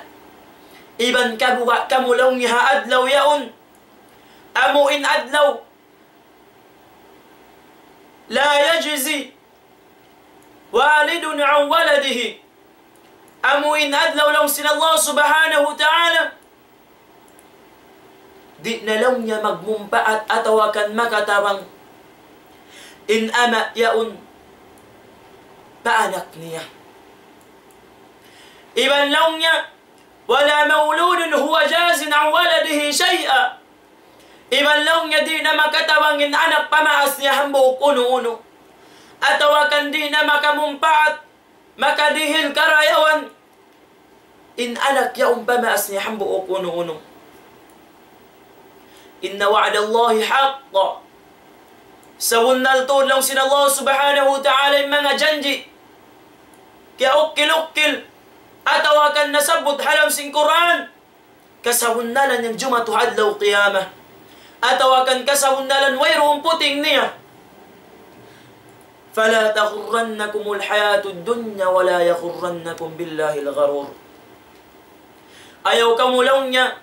Iban kabuga' kamu laung niya ha adlaw yaun. Amu in adlaw لا يجزي والد عن ولده. Amu in adlaw laung sin Allah Subhanahu wa Ta'ala, di' na laung niya magmumpaat atawa kan makatabang in ama' yaun pa anak niya. Iban laung niya, ولا مولود هو جاز عن ولده شيئا. Iban laung niya di' na makatabang in anak pa maas niya hambuuk unu-unu. Atawa kan di' na makamumpaat, makadihil karayawan in anak yaun pa maas niya hambuuk unu-unu. إن وعد الله حق. Sabunnal tuud laung sin Allah Subhanahu wa Ta'ala in manga janji' kiyaukkil-ukkil atawa kan nasabbut ha lawm sin Qur'an, kasabunnalan yan jumatu ha adlaw qiyamah. Atawa kan kasabunnalan wayruun puting niya. فلا تغرنكم الحياة الدنيا ولا يغرنكم بالله الغرور. Ayaw kamu laung niya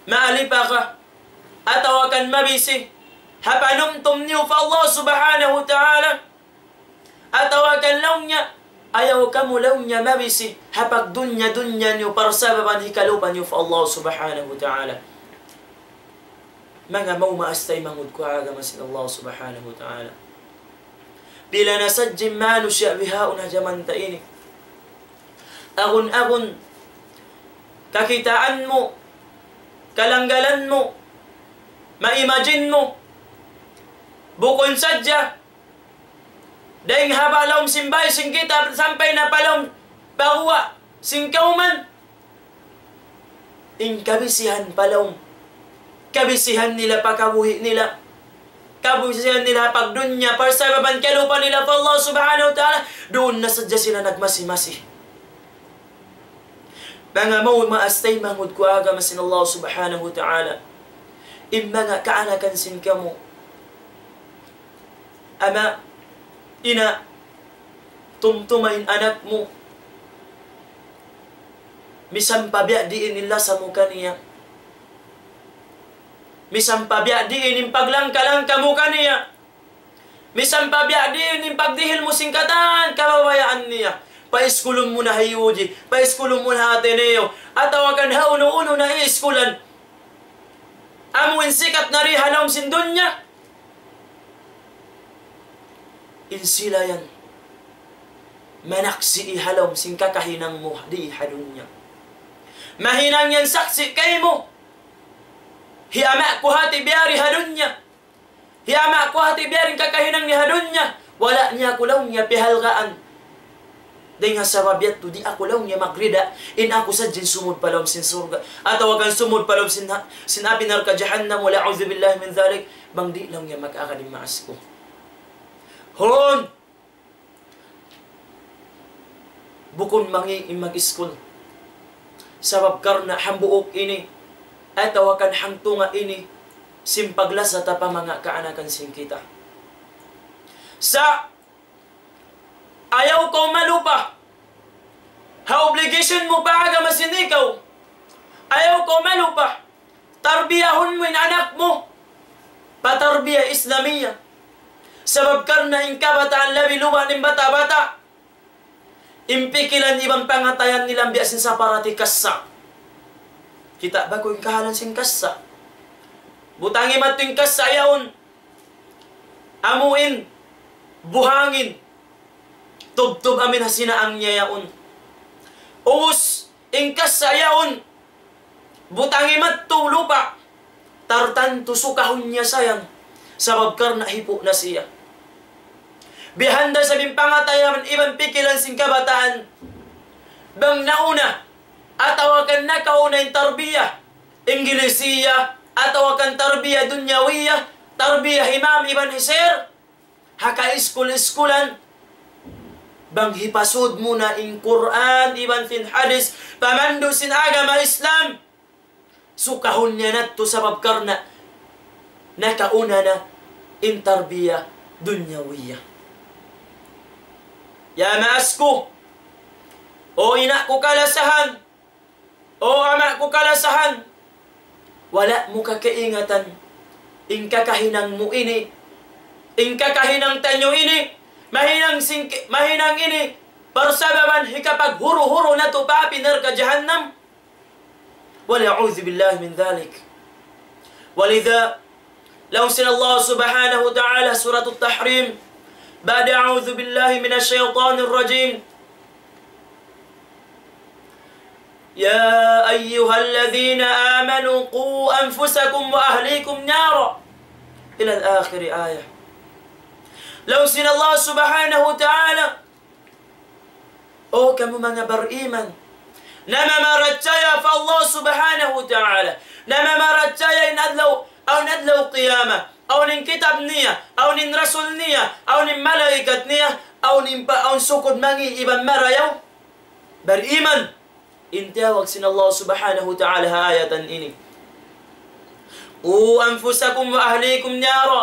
maalipaka atawa kan mabisi ha panumtum niyu pa Allah Subhanahu wa Ta'ala. Atawa kan laung niya, ayaw kamu laung niya mabisi ha pagdunya-dunya niyu parsababan hikalupa niyu pa Allah Subhanahu wa Ta'ala. Manga maas taymanghud ku ha agama sin Allah Subhanahu wa Ta'ala. Pila na sadja in manusiya' bihaun ha jaman ta ini. Agun-agun, kakitaan mu, kalanggalan mu, ma-imagine mu, bukun sadja dayn ha lawm sin bāy sin kita sampay na pa lawm pa guwa' sin kawman. In kabisihan pa lawm, kabisihan nila pa kabuhi' nila, kabisihan nila pagdunya, parsababan kalupa nila pa Allah Subhanahu wa Ta'ala, duun na sadja sila nagmasi-masi. Manga maas taymanghud ku ha agama sin Allah Subhanahu wa Ta'ala. In manga kaanakan sin kamu. Ama', ina', tumtuma in anak mu. Misan pa biya' diin in lasa mu kaniya. Misan pa biya' diin in paglangka-langka mu kaniya. Misan pa biya' diin in pagdihil mu sin katan kabayaan niya. Paiskulun mu na ha U G, paiskulun mu na ha Ateneo, atawa kan ha unu-unu na iskulan. Amu in sikat na di ha lawm sin dunya. In sila yan, manaksi' ha lawm sin kakahinang mu di ha dunya. Mahinang yan saksi' kaymu. Hi ama' ku hati biyari ha dunya. Hi ama' ku hati biyari in kakahinang niya ha dunya. Wala' niya aku laung niya pihalgaan. Dayn ha sabab yadtu di' aku laung niya magrida. In aku sadja in sumud pa lawm sin surga'. Atawa kan sumud pa lawm sin, sin api narka' jahannam. Wal a'udhu billahi min dhalik. Bang di' laung niya mag-agad in maas ku. Hon! Bukun mangi' in mag-iskul. Sabab karna' hambuuk ini, atawa kan hangtunga' ini, sin paglasa ta pa manga kaanakan sin kita. Sa' ayaw kaw malupa ha obligation mu pa agama sin ikaw. Ayaw kaw malupa. Tarbiyahun mu in anak mu pa tarbiya Islamiya. Sabab karna' in kabataan labi luba' in bata'-bata', in pikilan iban pangatayan nila biya' sin saparati kassa'. Kita' ba kaw in kahalan sin kassa'? Butangi madtu in kassa' yaun. Amu in buhangin. Tubtub amin ha sinaang niya yaun. Ubus in kassa' yaun, butangi madtu lupa'. Tartantu sukahun niya sa yan. Sabab karna' hipu' na siya. Bihanda sa' in pangatayan iban pikilan sin kabataan. Bang nauna, atawa kan nakauna in tarbiya Inglisiya, atawa kan tarbiya dunyawiya, tarbiya hi ma'am iban hi sir. Ha kaiskul-iskulan, bang hipasud mu na in Qur'an iban sin hadith, pamandu' sin agama Islam, sukahun niya na yadtu sabab karna' nakauna na in tarbiya dunyawiya. Ya maas ku, o ina' ku kalasahan, o ama' ku kalasahan, wala' mu kakaingatan in kakahinang mu ini, in kakahinang taniyu ini, mahinang sing-, mahinang ini, parsababan hikapaghuru-huru natu' pa api narka' jahannam. والعياذ بالله من ذلك. ولذا Laung sin Allah subhanahu wa ta'ala, Suratul Tahrim, بعد أعوذ بالله من الشيطان الرجيم. يا أيها الذين آمنوا قوا أنفسكم وأهليكم نارا. إلى آخر الآية. Laung sin Allah subhanahu wa ta'ala, O kamu manga bariman, namamarachaya pa Allah subhanahu wa ta'ala, namamarachaya in adlaw, awn adlaw qiyamah, awn in kitab niya, awn in rasul niya, awn in malaikat niya, awn in pa, awn sukud mangi' iban marayaw. Bariman, in tiyawag sin Allah subhanahu wa ta'ala ha ayatan ini. قوا أنفسكم وأهليكم نارا.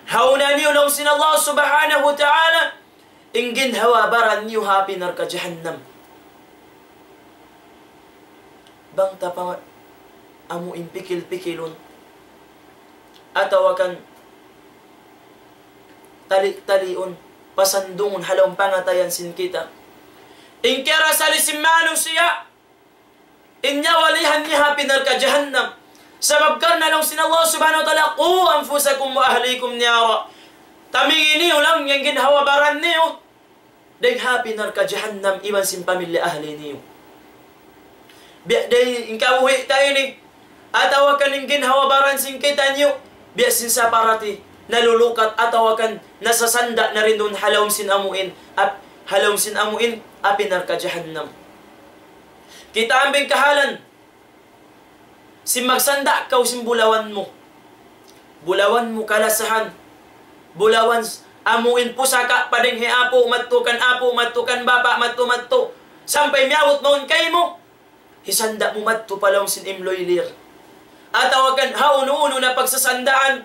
Hawna niyu laung sin Allah subhanahu wa ta'ala, in ginhawa-baran niyu ha api narka' jahannam. Bang ta pa amu in pikil-pikilun, atawa kan tali-taliun, pasandungun ha lawm pangatayan sin kita. In kiyarasali sin manusiya', in nyawa-lihan niya ha api narka' jahannam. Sabab karna' laung sin Allah subhanahu wa ta'ala, قوا أنفسكم وأهليكم نارا. Tamingi niyu laung in ginhawa-baran niyu dayn ha api narka' jahannam iban sin pamilya ahli niyu. Biya' da in kabuhi' ta ini, atawa kan in ginhawa-baran sin kitaniyu, biya' sin saparati nalulukat atawa kan nasasanda' na duun ha lawm sin amuin, ap-, ha lawm sin amuin, api narka' jahannam. Kita' ampa in kahalan sin magsanda' kaw sin bulawan mu. Bulawan mu kalasahan. Bulawan s-, amuin pusaka' pa dayn hi apu' madtu kan apu', madtu kan bapa', madtu, madtu. Sampay miyabut mawn kaymu, hisanda' mu madtu pa lawm sin imluylir. Atawa kan ha unu-unu na pagsasandaan.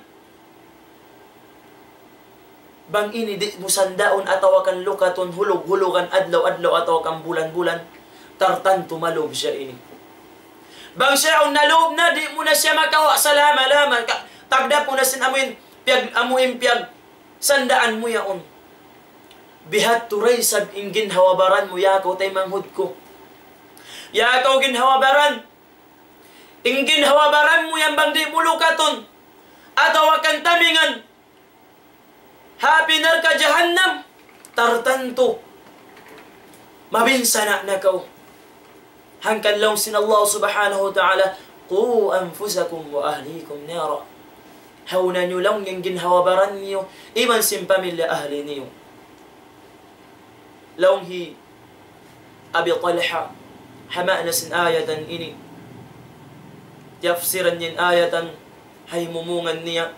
Bang ini di' mu sandaun atawa kan lukatun hulug-hulugan adlaw-adlaw atawa kan bulan-bulan, tartantu malub siya ini. Bang siya yaun nalub na, di' mu na siya makawa' salama-lama, ka-, tagdapu na sin amuin piyag-, amuin piyag sandaan mu yaun. Bihadtu da isab in ginhawa-baran mu, ya kaw taymanghud ku. Ya kaw ginhawa-baran. In ginhawa-baran mu yan bang di' mu lukatun atawa kan tamingan ha api narka' jahannam, tartantu mabinsana' na kaw. Hangkan laung sin Allah subhanahu wa ta'ala, قوا أنفسكم وأهليكم نارا. Hawna niyu laung in ginhawa-baran niyu, iban sin pamilya ahli niyu. Laung hi Abi Talha, ha maana sin ayatan ini. Tiyapsiran niya in ayatan, ha himumungan niya,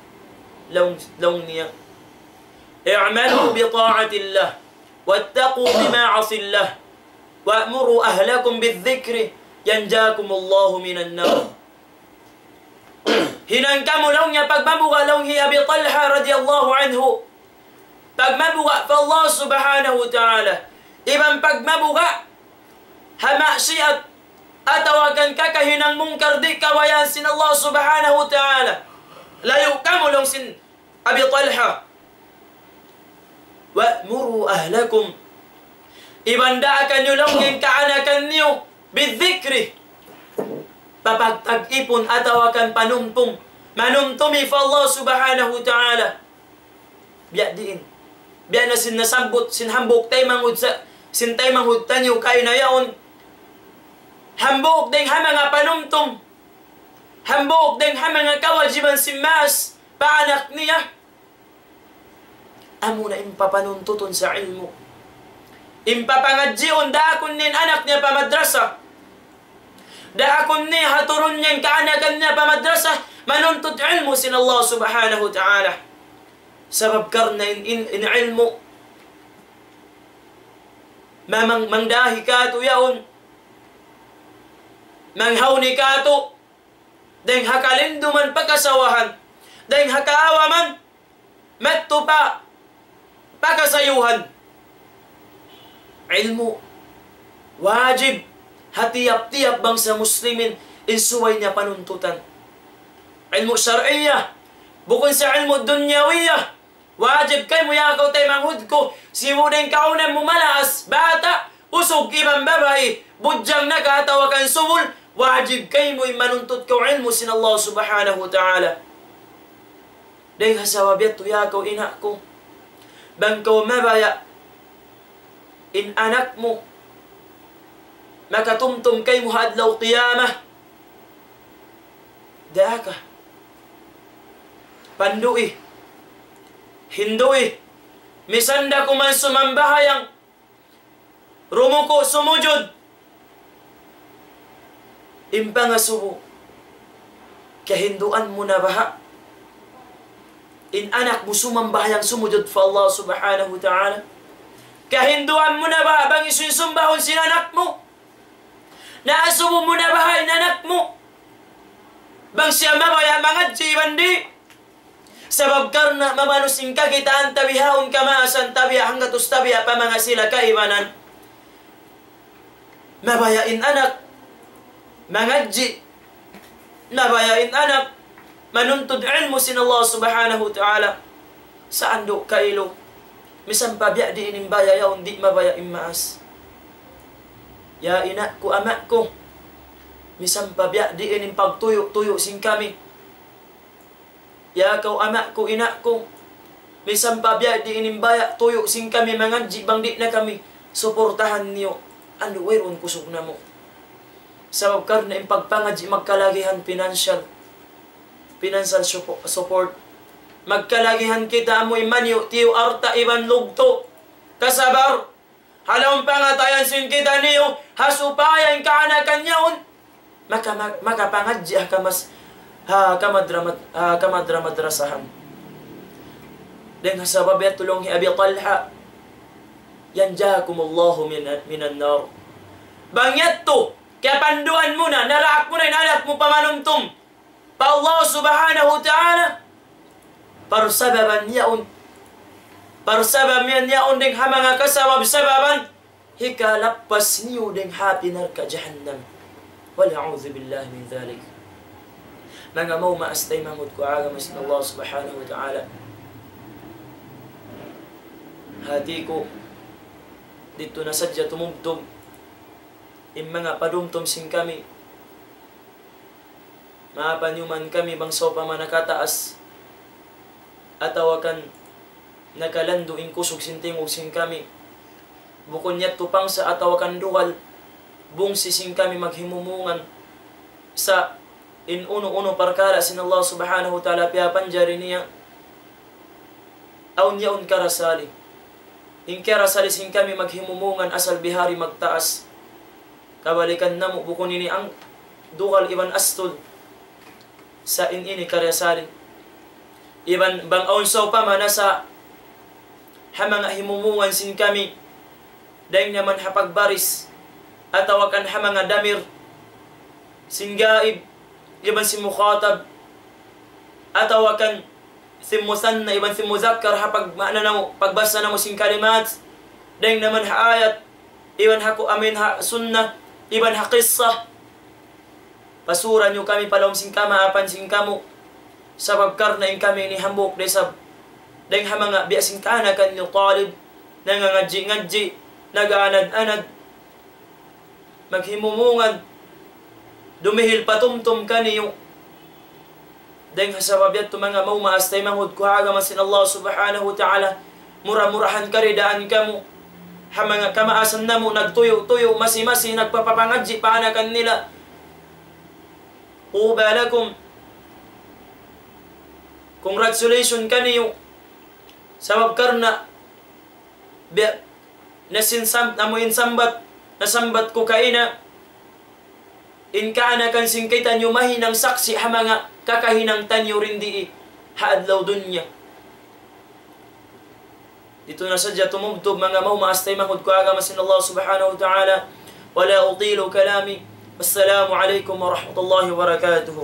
laung, laung niya, اعملوا بطاعة الله، واتقوا بمعاصي الله، وأمروا أهلكم بالذكر، ينجاكم الله من النار. Hinang kamu laung niya pagmabuga' laung hi Abi Talha radiyallahu anhu. Pagmabuga' pa Allah subhanahu wa ta'ala. Iban pagmabuga' ha maksiat atawa kan kakahinang mungkar di' kabayaan sin Allah subhanahu wa ta'ala. Layu' kamu laung sin Abi Talha. وأمروا أهلكم. Iban daakan niyu laung in kaanakan niyu بالذكر. Papagtag-ipun atawa kan panumtum. Manumtumi pa Allah subhanahu wa ta'ala. Biya' diin. Biya' na sin nasabbut, sin hambuuk taymanghud sa, sin taymanghud taniyu kaina yaun. Hambuuk dayn ha manga panumtum. Hambuuk dayn ha manga kawajiban sin maas pa anak niya. Amuna in papanuntutun sa ilmu'. In papangadjiun, daakun niya in anak niya pa madrasa. Daakun niya haturun niya in kaanakan niya pa madrasa, manuntut ilmu' sin Allah subhanahu wa ta'ala. Sabab karna' in, in, in ilmu', mamang, mangdahi kātu' yaun, manghawni kātu', dayn ha kalinduman pa kasawahan, dayn ha kaawaman, madtu pa, pa kasayuhan. Ilmu', wajib, ha tiyap-tiyap bangsa Muslimin, in subay niya panuntutan. Ilmu' shar'iyyah, bukun sa ilmu' dunyawiyah, wajib kaymu ya kaw taymanghud ku, sibu' dayn kaw na mu malaas, bata', usug iban babai, budjang na ka atawa kan subul, wajib kaymu in manuntut kaw ilmu' sin Allah subhanahu wa ta'ala. Dayn ha sabab yadtu ya kaw ina' ku, bang kaw mabaya' in anak mu makatumtum kaymu ha adlaw qiyamah, daaka. Pandui. Hindui. Misan da kuman sumambahayang, rumuku', sumujud. In pangasubu, kahinduan mu na baha' in anak mu sumambahayang, sumujud pa Allah subhanahu wa ta'ala? Kahinduan mu na baha' bang hisiyu in sumbahun sin anak mu? Naasubu mu na baha' in anak mu bang siya mabaya' mangadji' iban di'? Sabab karna' mamanus in kakitaan ta bihaun kamaasan, tabiya' hanggatus tabiya' pa manga sila kaibanan. Mabaya' in anak mangadji', mabaya' in anak manuntut ilmu' sin Allah subhanahu wa ta'ala. Sa'andu' kailu, misan pa biya' diin in baya' yaun di' mabaya' in maas. Ya ina' ku, ama' ku, misan pa biya' diin in pagtuyu'-tuyu' sin kami. Ya kaw ama' ku, ina' ku, misan pa biya' diin in baya' tuyu' sin kami mangadji' bang di' na kami suportahan niyu, andu' wayruun kusug namu'. Sabab karna' in pagpangadji' magkalagihan financial, financial suppo-, support. Magkalagihan kita amu in maniyu'-tiyu' alta' iban lugtu'. Kasabar, ha lawm pangatayan sin kitaniyu, ha supaya in kaanakan yaun maka-, ma-, makapangadji' ha kamas-, ha kamadramat-, ha kamadramadrasahan. Dayn ha sabab yadtu laung hi Abi Talha, ينجاكم الله من، من النار. Bang yadtu, kiyapanduan mu na, naraak mu na in anak mu pamanumtum pa Allah Subhanahu wa Ta'ala. Parsababan yaun. Parsababan yaun dayn ha manga kasabab-sababan hikalappas niyu dayn ha api narka' jahannam. والعياذ بالله من ذلك. Manga maas taymanghud ku ha agama sin Allah Subhanahu wa Ta'ala. Hati ku, didtu na sadja tumubtub in manga padumtum sin kami. Maapanyuman kami bang sawpama nakataas atawa kan nakalandu' in kusug sin tingug sin kami. Bukun yadtu pangsa atawa kan dugal, bungsi sin kami maghimumungan sa' in unu-unu parkala' sin Allah Subhanahu wa Ta'ala piyapanjari niya. Awn yaun karasali. In karasali sin kami maghimumungan asal bihari magtaas. Kabalikan namu' bukun ini ang dugal iban astul. Sa' in ini karasali. Iban bang awn sawpama nasa ha manga himumungan sin kami, dayn naman ha pagbaris, atawa kan ha manga damir sin gaib, iban sin mukhatab, atawa kan sin musanna, iban sin muzakkar, ha pag-, maana namu', pagbasa namu' sin kalimat, dayn naman ha ayat, iban ha ku-, amin ha sunnah, iban ha qissah. Pasura niyu kami pa lawm sin kamaapan sin kamu'. Sabab karna' in kami ini hambuuk da isab dayn ha manga biya' sin kaanakan niyu talib, nangangadji'-ngadji', nag-aanad-anad, maghimumungan, dumihil patumtum kaniyu. Dayn ha sabab yadtu manga maas taymanghud ku ha agama sin Allah Subhanahu wa Ta'ala, mura-murahan karidaan kamu. Ha manga kamaasan namu' nagtuyu'-tuyu', masi-masi, nagpapapangadji' pa anakan nila. طوبى لكم. Congratulations kaniyu. Sabab karna' biya' na sin sam-, namu' in sambat, nasambat ku kaina, in kaanakan sin kitaniyu mahinang saksi' ha manga kakahinang taniyu dindi ha adlaw dunya. Didtu na sadja tumubtub manga maas taymanghud ku ha agama sin Allah Subhanahu wa Ta'ala. ولا أطيل كلامي. والسلام عليكم ورحمة الله وبركاته.